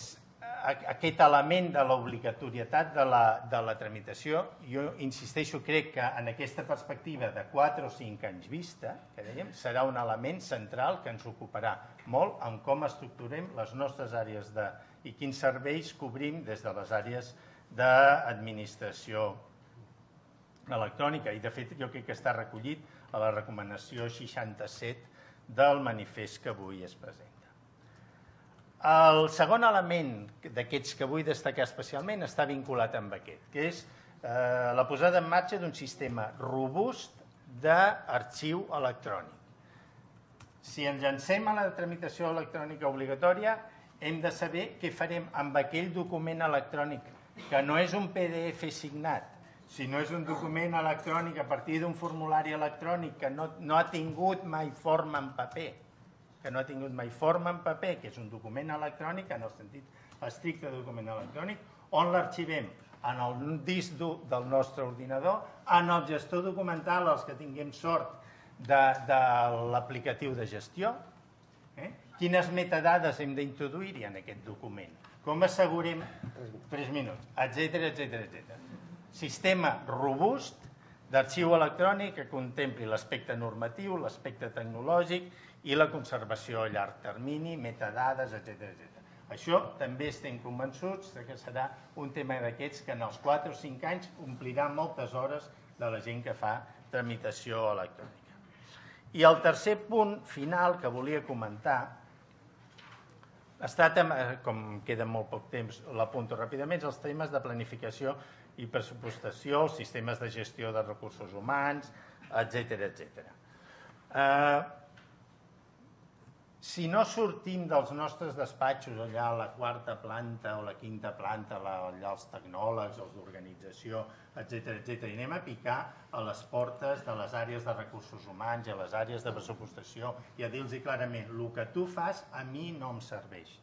aquest element de l'obligatorietat de, la, de la tramitació, jo insisteixo, crec que en aquesta perspectiva de quatre o cinc anys vista, que dèiem, serà un element central que ens ocuparà molt en com estructurem les nostres àrees de, i quins serveis cobrim des de les àrees d'administració electrònica. I de fet jo crec que està recollit a la recomanació seixanta-set del manifest que avui es presenta. El segon element d'aquests que vull destacar especialment està vinculat amb aquest, que és eh, la posada en marxa d'un sistema robust d'arxiu electrònic. Si ens llancem a la tramitació electrònica obligatòria, hem de saber què farem amb aquell document electrònic, que no és un P D F signat, sinó és un document electrònic a partir d'un formulari electrònic que no, no ha tingut mai forma en paper, que no ha tingut mai forma en paper, que és un document electrònic, en el sentit estricte de document electrònic, on l'arxivem? En el disc dur del nostre ordinador, en el gestor documental, els que tinguem sort de, de l'aplicatiu de gestió. Eh? Quines metadades hem d'introduir-hi en aquest document? Com assegurem? Tres minuts, etcètera, etcètera, etcètera. Sistema robust d'arxiu electrònic que contempli l'aspecte normatiu, l'aspecte tecnològic i la conservació a llarg termini, metadades, etcètera, etcètera. Això també estem convençuts que serà un tema d'aquests que en els quatre o cinc anys omplirà moltes hores de la gent que fa tramitació electrònica. I el tercer punt final que volia comentar està, com queda molt poc temps, l'apunto ràpidament, els temes de planificació i pressupostació, els sistemes de gestió de recursos humans, etcètera, etcètera. Si no sortim dels nostres despatxos allà a la quarta planta o la quinta planta, allà els tecnòlegs, els d'organització, etcètera, etcètera, i anem a picar a les portes de les àrees de recursos humans i a les àrees de pressupostació i a dir-los clarament, el que tu fas a mi no em serveix.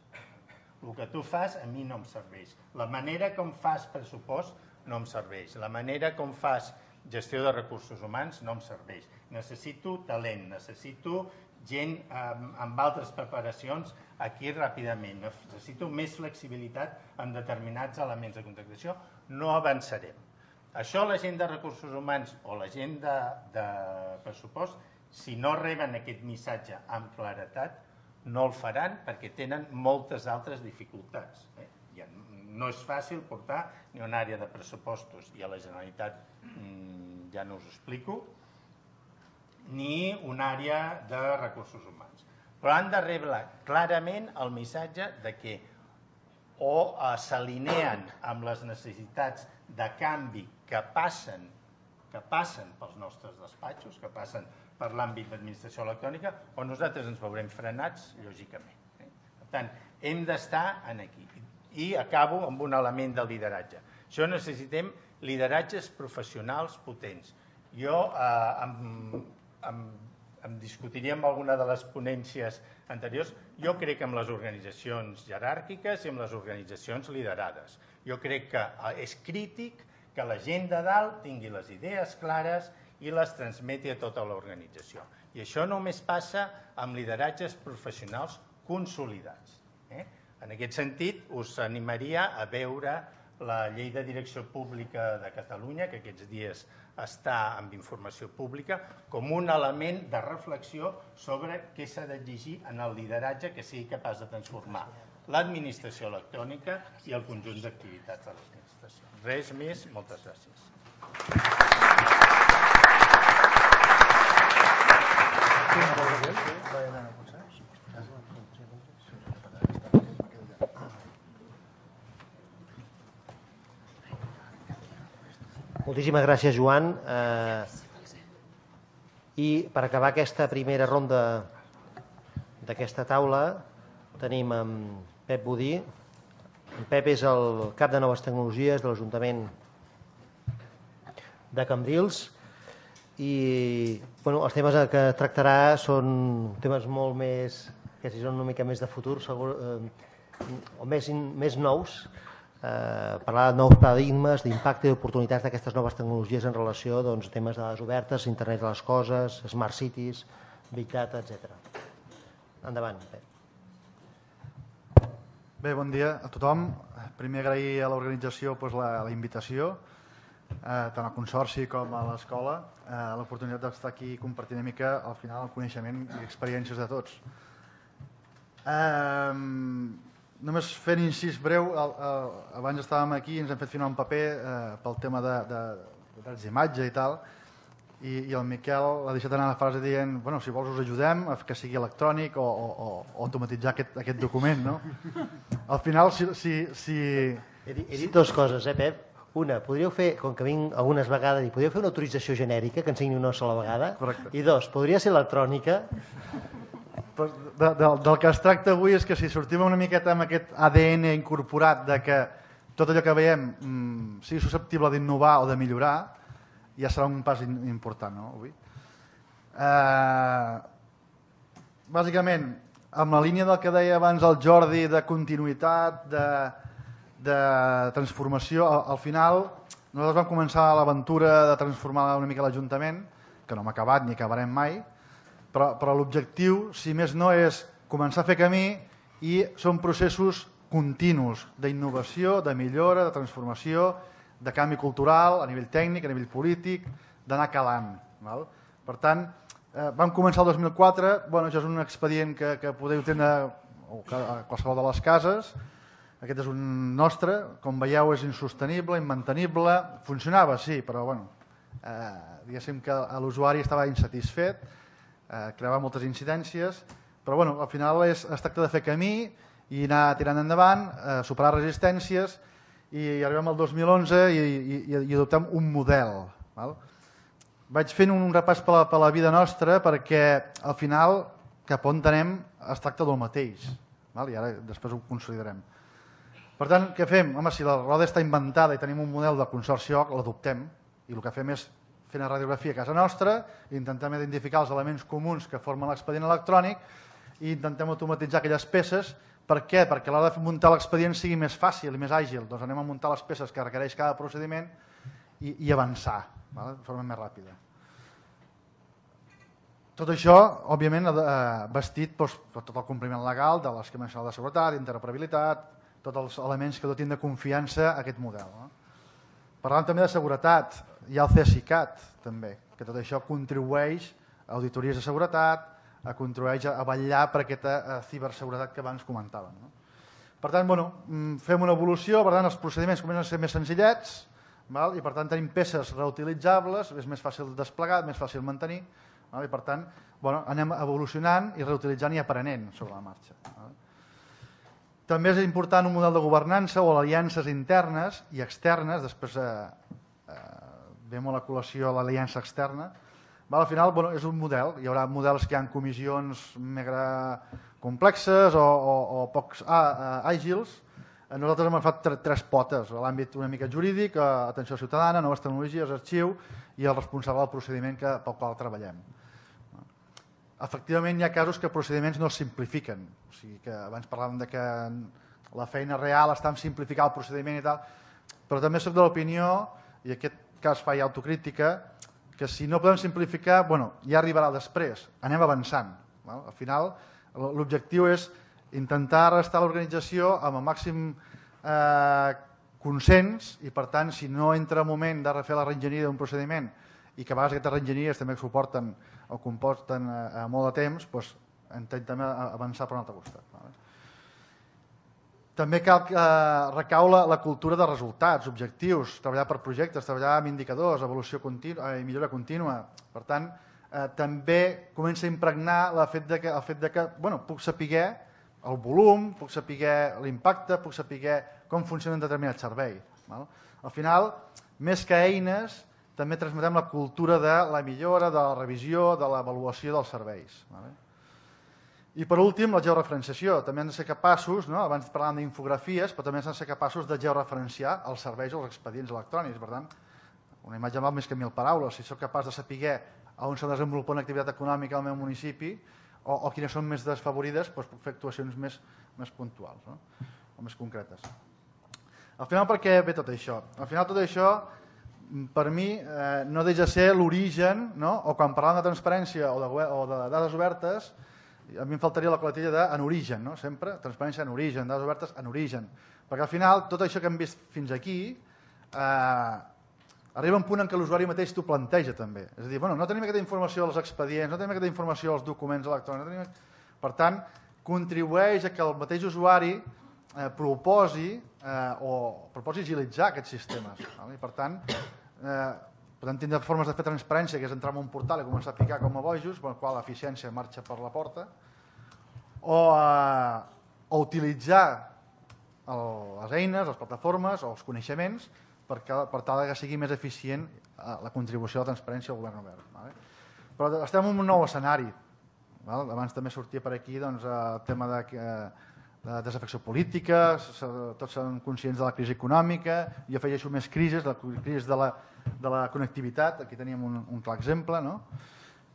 El que tu fas a mi no em serveix. La manera com fas pressupost no em serveix. La manera com fas gestió de recursos humans no em serveix. Necessito talent, necessito gent amb altres preparacions aquí ràpidament. Necessito més flexibilitat en determinats elements de contractació. No avançarem. Això la gent de recursos humans o la gent de pressupost, si no reben aquest missatge amb claretat, no el faran perquè tenen moltes altres dificultats. No és fàcil portar ni una àrea de pressupostos, i a la Generalitat ja no us ho explico, ni una àrea de recursos humans. Però han de rebre clarament el missatge de que o s'alineen amb les necessitats de canvi que passen que passen pels nostres despatxos, que passen per l'àmbit d'administració electrònica, o nosaltres ens veurem frenats, lògicament. Per tant, hem d'estar aquí. I acabo amb un element del lideratge. Això necessitem lideratges professionals potents. Jo em discutiria amb alguna de les ponències anteriors. Jo crec en les organitzacions jeràrquiques i en les organitzacions liderades. Jo crec que és crític que la gent de dalt tingui les idees clares i les transmeti a tota l'organització. I això només passa amb lideratges professionals consolidats. En aquest sentit, us animaria a veure la Llei de Direcció Pública de Catalunya, que aquests dies està amb informació pública, com un element de reflexió sobre què s'ha d'exigir en el lideratge que sigui capaç de transformar l'administració electrònica i el conjunt d'activitats de l'administració. Res més, moltes gràcies. Moltíssimes gràcies, Joan. I per acabar aquesta primera ronda d'aquesta taula tenim en Pep Budí. En Pep és el cap de Noves Tecnologies de l'Ajuntament de Cambrils i els temes que tractarà són temes molt més, que si són una mica més de futur o més nous, parlar de nous paradigmes, d'impacte i d'oportunitats d'aquestes noves tecnologies en relació a temes de dades obertes, internet de les coses, smart cities, big data, etcètera. Endavant, Pep. Bé, bon dia a tothom. Primer agrair a l'organització la invitació, tant al Consorci com a l'escola, l'oportunitat d'estar aquí i compartir una mica al final el coneixement i experiències de tots. Només fent incís breu, abans estàvem aquí i ens hem fet firmar un paper pel tema de drets d'imatge i tal, i el Miquel ha deixat anar la frase dient si vols us ajudem a que sigui electrònic o automatitzar aquest document. Al final, si... He dit dues coses, eh, Pep? Una, podríeu fer, com que vinc algunes vegades, i podríeu fer una autorització genèrica que ensenyi una sola vegada? Correcte. I dos, podria ser electrònica? Del que es tracta avui és que si sortim una miqueta amb aquest A D N incorporat de que tot allò que veiem sigui susceptible d'innovar o de millorar, ja serà un pas important, no, avui. Bàsicament, amb la línia del que deia abans el Jordi, de continuïtat, de transformació, al final nosaltres vam començar l'aventura de transformar una mica l'Ajuntament, que no hem acabat ni acabarem mai, però l'objectiu, si més no, és començar a fer camí i són processos continus d'innovació, de millora, de transformació, de canvi cultural, a nivell tècnic, a nivell polític, d'anar calant. Per tant, vam començar el dos mil quatre, això és un expedient que podeu tindre o a qualsevol de les cases. Aquest és un nostre, com veieu és insostenible, immantenible, funcionava sí, però bueno, eh, diguéssim que l'usuari estava insatisfet, eh, creava moltes incidències, però bueno, al final és, es tracta de fer camí i anar tirant endavant, eh, superar resistències i arribem al dos mil onze i, i, i adoptem un model. Val? Vaig fent un repàs per la, per la vida nostra perquè al final cap on anem es tracta del mateix, val? I ara després ho consolidarem. Per tant, què fem? Home, si la roda està inventada i tenim un model de consorci O C, l'adoptem i el que fem és fer una radiografia a casa nostra, intentem identificar els elements comuns que formen l'expedient electrònic i intentem automatitzar aquelles peces. Per què? Perquè a l'hora de muntar l'expedient sigui més fàcil i més àgil. Doncs anem a muntar les peces que requereix cada procediment i, i avançar, val? De forma més ràpida. Tot això, òbviament, vestit doncs, per tot el compliment legal de l'esquema nacional de seguretat, interoperabilitat, tots els elements que dotin de confiança a aquest model. No? Parlant també de seguretat, hi ha el CESICAT, també, que tot això contribueix a auditories de seguretat, a contribueix a vetllar per aquesta ciberseguretat que abans comentàvem. No? Per tant, bueno, fem una evolució, per tant, els procediments comencen a ser més senzillets, val? I per tant tenim peces reutilitzables, és més fàcil desplegar, més fàcil mantenir, val? I per tant, bueno, anem evolucionant i reutilitzant i aprenent sobre la marxa. Val? També és important un model de governança o aliances internes i externes, després eh, eh, ve molt a col·lació l'aliança externa. Val? Al final bueno, és un model, hi haurà models que hi ha comissions mega complexes o, o, o pocs ah, àgils. Nosaltres hem agafat tres potes, l'àmbit una mica jurídic, atenció ciutadana, noves tecnologies, arxiu i el responsable del procediment que, pel qual treballem. Efectivament, hi ha casos que procediments no es simplifiquen. O sigui que abans parlàvem de que la feina real està en simplificar el procediment i tal, però també soc de l'opinió, i en aquest cas fa autocrítica, que si no podem simplificar, bueno, ja arribarà després, anem avançant. Val? Al final, l'objectiu és intentar restar l'organització amb el màxim eh, consens i, per tant, si no entra el moment de refer la reenginyeria d'un procediment i que a vegades aquestes reenginyeries també suporten o comporten a molt de temps, doncs intentem avançar per un altre costat. També cal que recau la, la cultura de resultats, objectius, treballar per projectes, treballar amb indicadors, evolució contínua, eh, millora contínua. Per tant, eh, també comença a impregnar el fet de que, el fet de que bueno, puc saber el volum, puc saber l'impacte, puc saber com funciona un determinat servei. Val? Al final, més que eines, també transmetem la cultura de la millora, de la revisió, de l'avaluació dels serveis. Vale? I per últim, la georreferenciació. També hem de ser capaços, no? Abans parlàvem d'infografies, però també hem de ser capaços de georreferenciar els serveis o els expedients electrònics. Per tant, una imatge val més que mil paraules. Si soc capaç de saber on s'ha desenvolupat una activitat econòmica al meu municipi o, o quines són més desfavorides, doncs puc fer actuacions més, més puntuals, no? O més concretes. Al final, per què ve tot això? Al final, tot això per mi eh, no deixa de ser l'origen, no? O quan parlàvem de transparència o de, o de dades obertes, a mi em faltaria la coletilla de en origen, no? Sempre transparència en origen, dades obertes en origen, perquè al final tot això que hem vist fins aquí eh, arriba un punt en què l'usuari mateix t'ho planteja també, és a dir, bueno, no tenim aquesta informació als expedients, no tenim aquesta informació als documents electrònics, no tenim... per tant, contribueix a que el mateix usuari eh, proposi eh, o proposi agilitzar aquests sistemes, val? I per tant Eh, podem tindre formes de fer transparència, que és entrar en un portal i començar a picar com a bojos, per la qual l'eficiència marxa per la porta, o, eh, o utilitzar el, les eines, les plataformes o els coneixements per, per tal que sigui més eficient eh, la contribució a la transparència al govern obert. Vale? Però estem en un nou escenari. Val? Abans també sortia per aquí doncs, el tema de que eh, de desafecció política, tots són conscients de la crisi econòmica, jo afegeixo més crisis, la crisi de la, de la connectivitat, aquí teníem un, un clar exemple. No?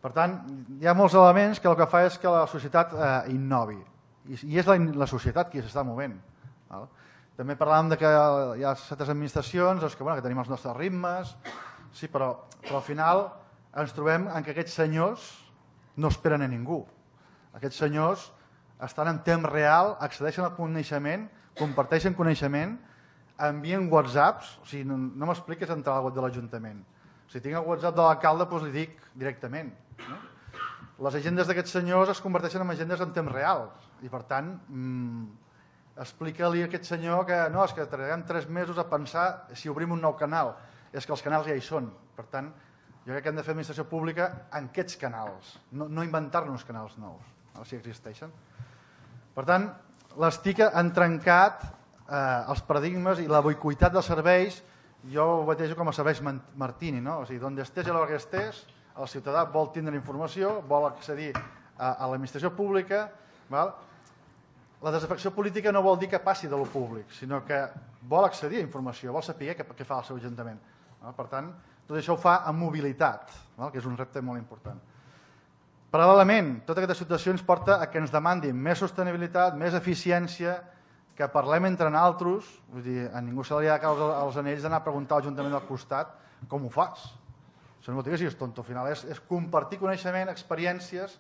Per tant, hi ha molts elements que el que fa és que la societat eh, innovi, i, i és la, la societat qui s'està movent. Val? També parlàvem de que hi ha certes administracions doncs que, bueno, que tenim els nostres ritmes, sí, però, però al final ens trobem en que aquests senyors no esperen a ningú. Aquests senyors estan en temps real, accedeixen al coneixement, comparteixen coneixement, envien whatsapps, o sigui, no, no m'expliques entrar al web de l'Ajuntament. Si tinc el WhatsApp de l'alcalde, doncs li dic directament. No? les agendes d'aquests senyors es converteixen en agendes en temps real i per tant mmm, explica-li a aquest senyor que no, és que trigarem tres mesos a pensar si obrim un nou canal, és que els canals ja hi són, per tant jo crec que hem de fer administració pública en aquests canals, no, no inventar-nos canals nous, no, si existeixen. Per tant, les T I C han trencat eh, els paradigmes i la boicotat dels serveis, jo ho batejo com a serveis Martini, no? O sigui, on estés i a l'hora que estés, el ciutadà vol tindre informació, vol accedir a, a l'administració pública, val? La desafecció política no vol dir que passi de lo públic, sinó que vol accedir a informació, vol saber què, què fa el seu ajuntament. Val? Per tant, tot això ho fa amb mobilitat, val? Que és un repte molt important. Paral·lelament, tota aquesta situació ens porta a que ens demandin més sostenibilitat, més eficiència, que parlem entre nosaltres, vull dir, a ningú se li ha de caure als anells d'anar a preguntar a l'Ajuntament del costat com ho fas. Això no vol dir que siguis tonto, al final és, és compartir coneixement, experiències,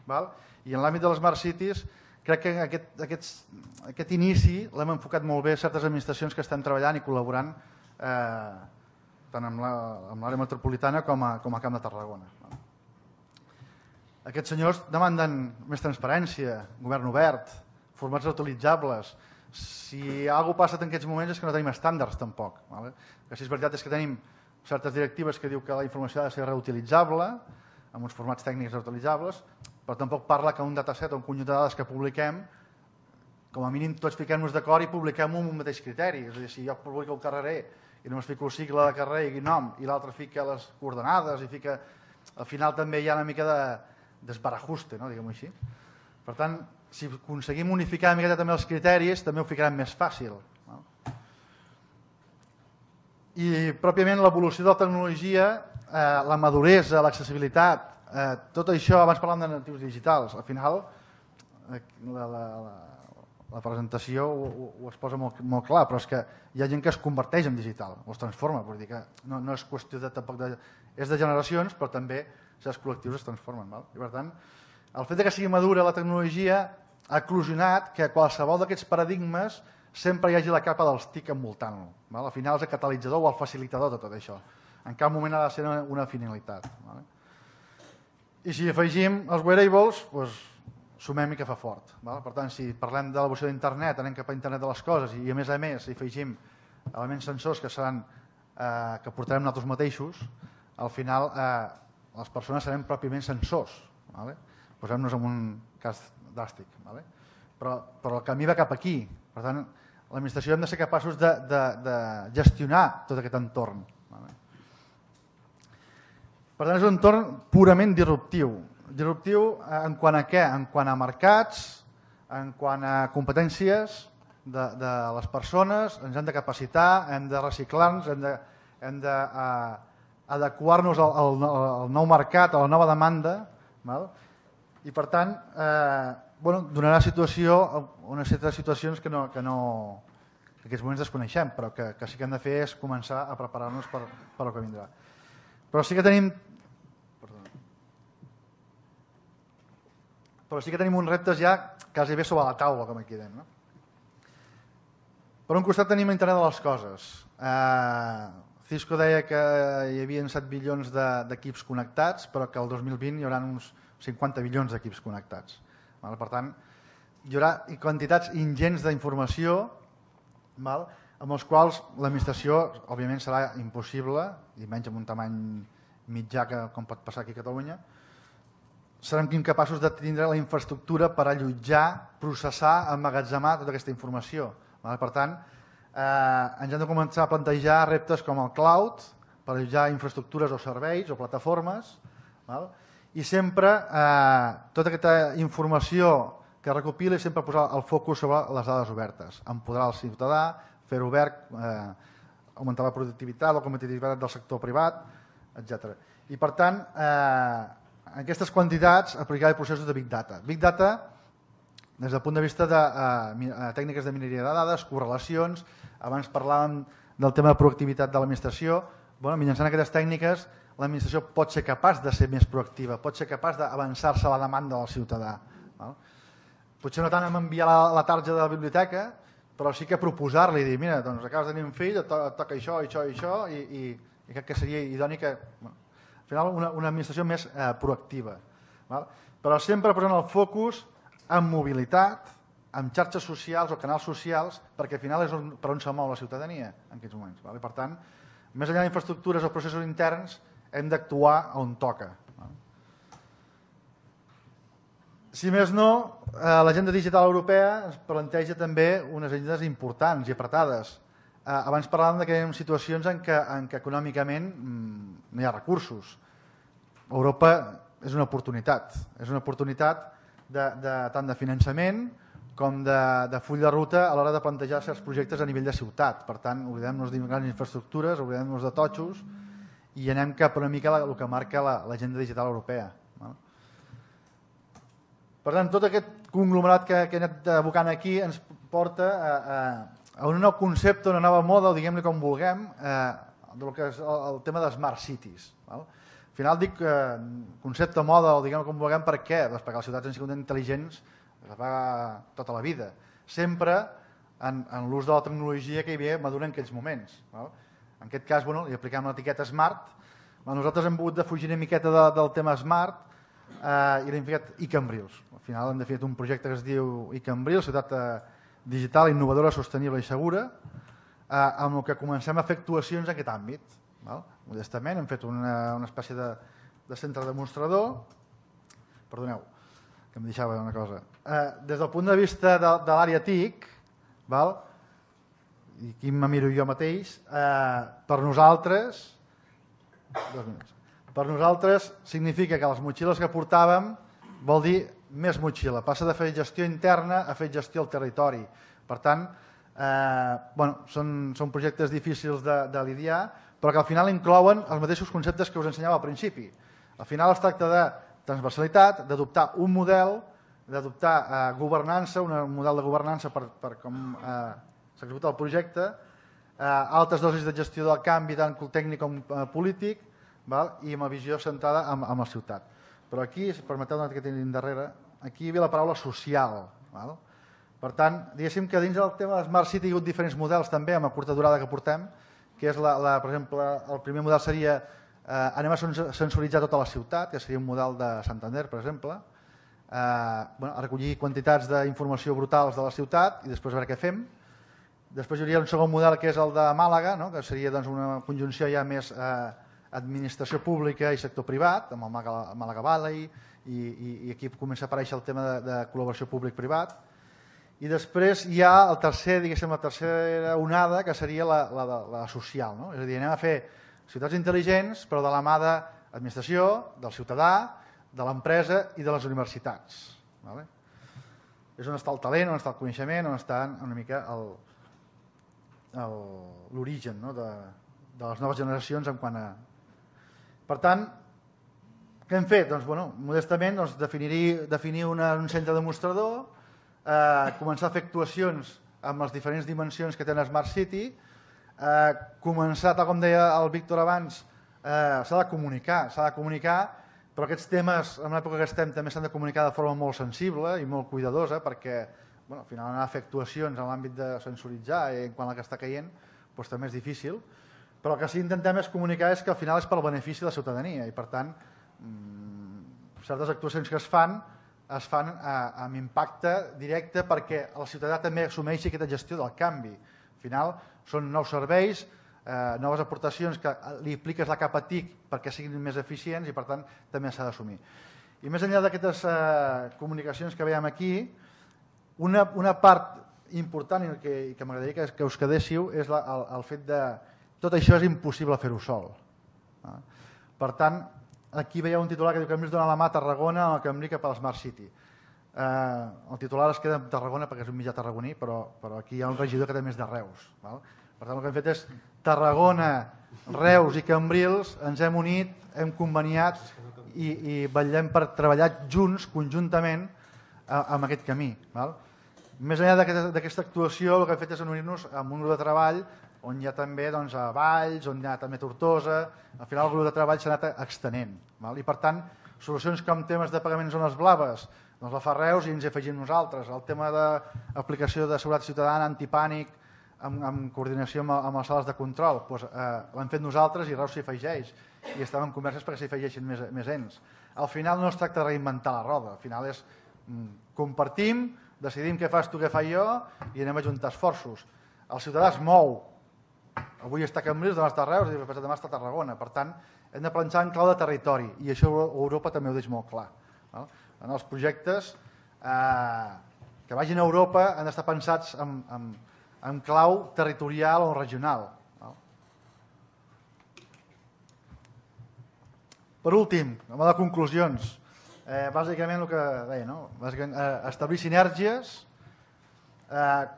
val? I en l'àmbit de les Smart Cities crec que aquest, aquest, aquest inici l'hem enfocat molt bé certes administracions que estan treballant i col·laborant eh, tant amb l'àrea metropolitana com a, com a Camp de Tarragona. Aquests senyors demanden més transparència, govern obert, formats reutilitzables. Si alguna cosa passa en aquests moments és que no tenim estàndards tampoc. Vale? Que si és veritat és que tenim certes directives que diu que la informació ha de ser reutilitzable, amb uns formats tècnics reutilitzables, però tampoc parla que un dataset o un conjunt de dades que publiquem, com a mínim tots fiquem-nos d'acord i publiquem un mateix criteri. És a dir, si jo publico el carrerer i només fico el cicle de carrer i nom i l'altre fica les coordenades i fica... Al final també hi ha una mica de desbarajuste, no? Diguem-ho així. Per tant, si aconseguim unificar una miqueta també els criteris, també ho ficarem més fàcil. No? I pròpiament l'evolució de la tecnologia, eh, la maduresa, l'accessibilitat, eh, tot això, abans parlàvem de natius digitals, al final eh, la, la, la, la presentació ho, ho es posa molt, molt clar, però és que hi ha gent que es converteix en digital, o es transforma, vull dir que no, no és qüestió de, tampoc de... És de generacions, però també els col·lectius es transformen. Val? I per tant, el fet que sigui madura la tecnologia ha eclosionat que qualsevol d'aquests paradigmes sempre hi hagi la capa dels T I C envoltant-lo. Al final és el catalitzador o el facilitador de tot això. En cap moment ha de ser una finalitat. Val? I si afegim els wearables, doncs, sumem i que fa fort. Val? Per tant, si parlem de l'evolució d'internet, anem cap a internet de les coses i a més a més si afegim elements sensors que seran eh, que portarem nosaltres mateixos, al final eh, les persones serem pròpiament sensors. Vale? Posem-nos en un cas dràstic. Vale? Però, però el camí va cap aquí. Per tant, l'administració hem de ser capaços de, de, de gestionar tot aquest entorn. Vale? Per tant, és un entorn purament disruptiu. Disruptiu en quant a què? En quant a mercats, en quant a competències de, de les persones, ens hem de capacitar, hem de reciclar-nos, hem de, hem de uh, adequar-nos al, al, al nou mercat, a la nova demanda, val? I per tant, eh, bueno, donarà situació, una sèrie de situacions que, no, que, no, que en aquests moments desconeixem, però que, que sí que hem de fer és començar a preparar-nos per, per el que vindrà. Però sí que tenim... Perdona. Però sí que tenim uns reptes ja quasi bé sobre la taula, com aquí dèiem. No? Per un costat tenim internet de les coses. Eh, Cisco deia que hi havia set bilions d'equips connectats, però que el dos mil vint hi haurà uns cinquanta bilions d'equips connectats. Per tant, hi haurà quantitats ingents d'informació amb els quals l'administració, òbviament, serà impossible, i menys amb un tamany mitjà que, com pot passar aquí a Catalunya, serem incapaços de tindre la infraestructura per allotjar, processar, emmagatzemar tota aquesta informació. Per tant, Eh, ens hem de començar a plantejar reptes com el cloud per allotjar infraestructures o serveis o plataformes, val? I sempre eh, tota aquesta informació que recopila i sempre posar el focus sobre les dades obertes, empoderar el ciutadà, fer-ho obert, eh, augmentar la productivitat, la competitivitat del sector privat, etcètera. I per tant, eh, en aquestes quantitats aplicar els processos de Big Data. Big Data des del punt de vista de eh, tècniques de mineria de dades, correlacions, abans parlàvem del tema de proactivitat de l'administració, bueno, mitjançant aquestes tècniques l'administració pot ser capaç de ser més proactiva, pot ser capaç d'avançar-se a la demanda del ciutadà. Val? Potser no tant amb enviar la, la tarja de la biblioteca, però sí que proposar-li, dir, mira, doncs acabes de tenir un fill, et to et toca això, això i això, i, i, i crec que seria idoni que, bueno, al final, una, una administració més eh, proactiva. Però sempre posant el focus en mobilitat, en xarxes socials o canals socials, perquè al final és per on se mou la ciutadania en aquests moments. Per tant, més enllà d'infraestructures o processos interns, hem d'actuar on toca. Si més no, l'agenda digital europea ens planteja també unes agendes importants i apretades. Abans parlàvem que hi ha situacions en què, en què econòmicament no hi ha recursos. Europa és una oportunitat, és una oportunitat de, de, tant de finançament com de, de full de ruta a l'hora de plantejar certs projectes a nivell de ciutat. Per tant, oblidem-nos de grans infraestructures, oblidem-nos de totxos i anem cap una mica el que marca l'agenda digital europea. Per tant, tot aquest conglomerat que, que he anat abocant aquí ens porta a, a, a un nou concepte, una nova moda, o diguem-ne com vulguem, eh, del que és el, el tema de Smart Cities. Val? Al final dic eh, concepte moda, o diguem-ne com vulguem, per què? Doncs perquè les ciutats han sigut intel·ligents es fa tota la vida, sempre en, en l'ús de la tecnologia que hi havia madura en aquells moments. Val? En aquest cas, bueno, li apliquem l'etiqueta Smart. Nosaltres hem volgut defugir una miqueta de, del tema Smart eh, i l'hem ficat iCambrils. Al final hem definit un projecte que es diu iCambrils, ciutat eh, digital, innovadora, sostenible i segura, eh, amb el que comencem a fer actuacions en aquest àmbit. Val? Modestament hem fet una, una espècie de, de centre demostrador. Perdoneu, que em deixava una cosa. Eh, des del punt de vista de, de l'àrea T I C, val? I aquí me miro jo mateix, eh, per nosaltres, dos minuts, per nosaltres significa que les motxilles que portàvem vol dir més motxilla, passa de fer gestió interna a fer gestió al territori. Per tant, eh, bueno, són, són projectes difícils de, de lidiar, però que al final inclouen els mateixos conceptes que us ensenyava al principi. Al final es tracta de transversalitat, d'adoptar un model, d'adoptar eh, governança, un model de governança per, per com eh, s'executa el projecte, eh, altes dosis de gestió del canvi, tant tècnic com eh, polític, val? I amb la visió centrada en, en la ciutat. Però aquí, si permeteu que tenim darrere, aquí hi havia la paraula social. Val? Per tant, diguéssim que dins del tema de Smart City hi ha hagut diferents models també, amb la curta durada que portem, que és, la, la, per exemple, el primer model seria Eh, anem a sensoritzar tota la ciutat, que seria un model de Santander, per exemple, eh, bueno, a recollir quantitats d'informació brutals de la ciutat i després a veure què fem. Després hi hauria un segon model que és el de Màlaga, no? Que seria doncs, una conjunció ja més eh, administració pública i sector privat, amb el Màlaga, Màlaga Valley, i, i, i aquí comença a aparèixer el tema de, de col·laboració públic-privat. I després hi ha el tercer, diguéssim, la tercera onada, que seria la, la, la, la social. No? És a dir, anem a fer ciutats intel·ligents, però de la mà de l'administració, del ciutadà, de l'empresa i de les universitats. Vale? És on està el talent, on està el coneixement, on està una mica l'origen, no? de, de les noves generacions en quant a... Per tant, què hem fet? Doncs, bueno, modestament, doncs, definir, definir una, un centre demostrador, eh, començar a fer actuacions amb les diferents dimensions que té una Smart City, Eh, començar, tal com deia el Víctor abans, eh, s'ha de comunicar, s'ha de comunicar, però aquests temes, en l'època que estem, també s'han de comunicar de forma molt sensible i molt cuidadosa, perquè bueno, al final anar a fer actuacions en l'àmbit de sensoritzar i en quant a la que està caient, doncs també és difícil, però el que sí intentem és comunicar és que al final és pel benefici de la ciutadania i per tant mmm, certes actuacions que es fan es fan eh, amb impacte directe perquè el ciutadà també assumeixi aquesta gestió del canvi. Al final són nous serveis, eh, noves aportacions que li apliques la capa T I C perquè siguin més eficients i per tant també s'ha d'assumir. I més enllà d'aquestes eh, comunicacions que veiem aquí, una, una part important i que, que m'agradaria que, que us quedéssiu és la, el, el fet de tot això és impossible fer-ho sol. Eh? Per tant, aquí veieu un titular que diu que hem vist donar la mà a Tarragona en el camí cap a la Smart City. Eh, el titular es queda en Tarragona perquè és un mitjà tarragoní, però, però aquí hi ha un regidor que té més de Reus. Val? Per tant, el que hem fet és Tarragona, Reus i Cambrils, ens hem unit, hem conveniat i, i vetllem per treballar junts, conjuntament, amb aquest camí. Val? Més enllà d'aquesta actuació, el que hem fet és unir-nos amb un grup de treball on hi ha també doncs, a Valls, on hi ha també Tortosa, al final el grup de treball s'ha anat extenent. Val? I per tant, solucions com temes de pagament en zones blaves, doncs la fa Reus i ens hi afegim nosaltres. El tema d'aplicació de seguretat ciutadana, antipànic, amb, amb coordinació amb, amb les sales de control, doncs, eh, l'hem fet nosaltres i Reus s'hi afegeix. I estem en converses perquè s'hi afegeixin més, més ens. al final no es tracta de reinventar la roda, al final és compartim, decidim què fas tu, què faig jo i anem a juntar esforços. El ciutadà es mou. Avui està a Cambrils, demà està a Reus i demà està a Tarragona. Per tant, hem de planxar en clau de territori i això Europa també ho deixa molt clar. En els projectes que vagin a Europa han d'estar pensats en clau territorial o regional. Per últim, amb les conclusions, bàsicament el que deia, establir sinergies,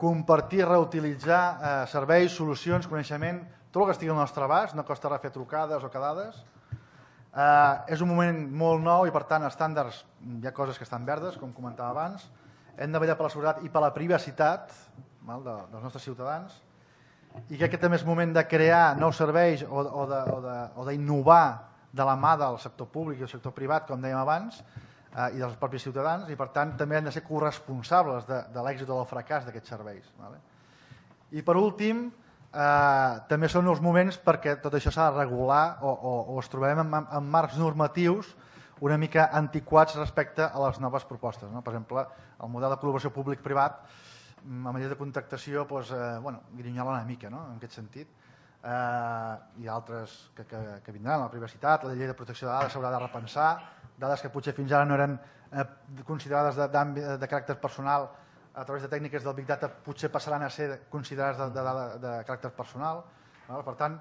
compartir, reutilitzar serveis, solucions, coneixement, tot el que estigui al nostre abast, no costa res fer trucades o quedades. És un moment molt nou i, per tant, estàndards, hi ha coses que estan verdes, com comentava abans. Hem de vetllar per la seguretat i per la privacitat dels nostres ciutadans. I crec que també és moment de crear nous serveis o d'innovar de la mà del sector públic i del sector privat, com dèiem abans, i dels propis ciutadans, i per tant també han de ser corresponsables de l'èxit o del fracàs d'aquests serveis. I per últim, també són els moments perquè tot això s'ha de regular o es trobarem en marcs normatius una mica antiquats respecte a les noves propostes. Per exemple, el model de col·laboració públic-privat, a manera de contractació, grinyola una mica en aquest sentit. Hi ha altres que vindran, la privacitat, la llei de protecció de dades s'haurà de repensar, dades que potser fins ara no eren considerades de caràcter personal a través de tècniques del Big Data potser passaran a ser considerades de caràcter personal. Per tant,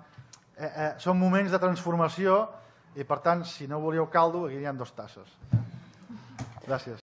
són moments de transformació i per tant, si no volíeu caldo, aquí hi ha dues tasses. Gràcies.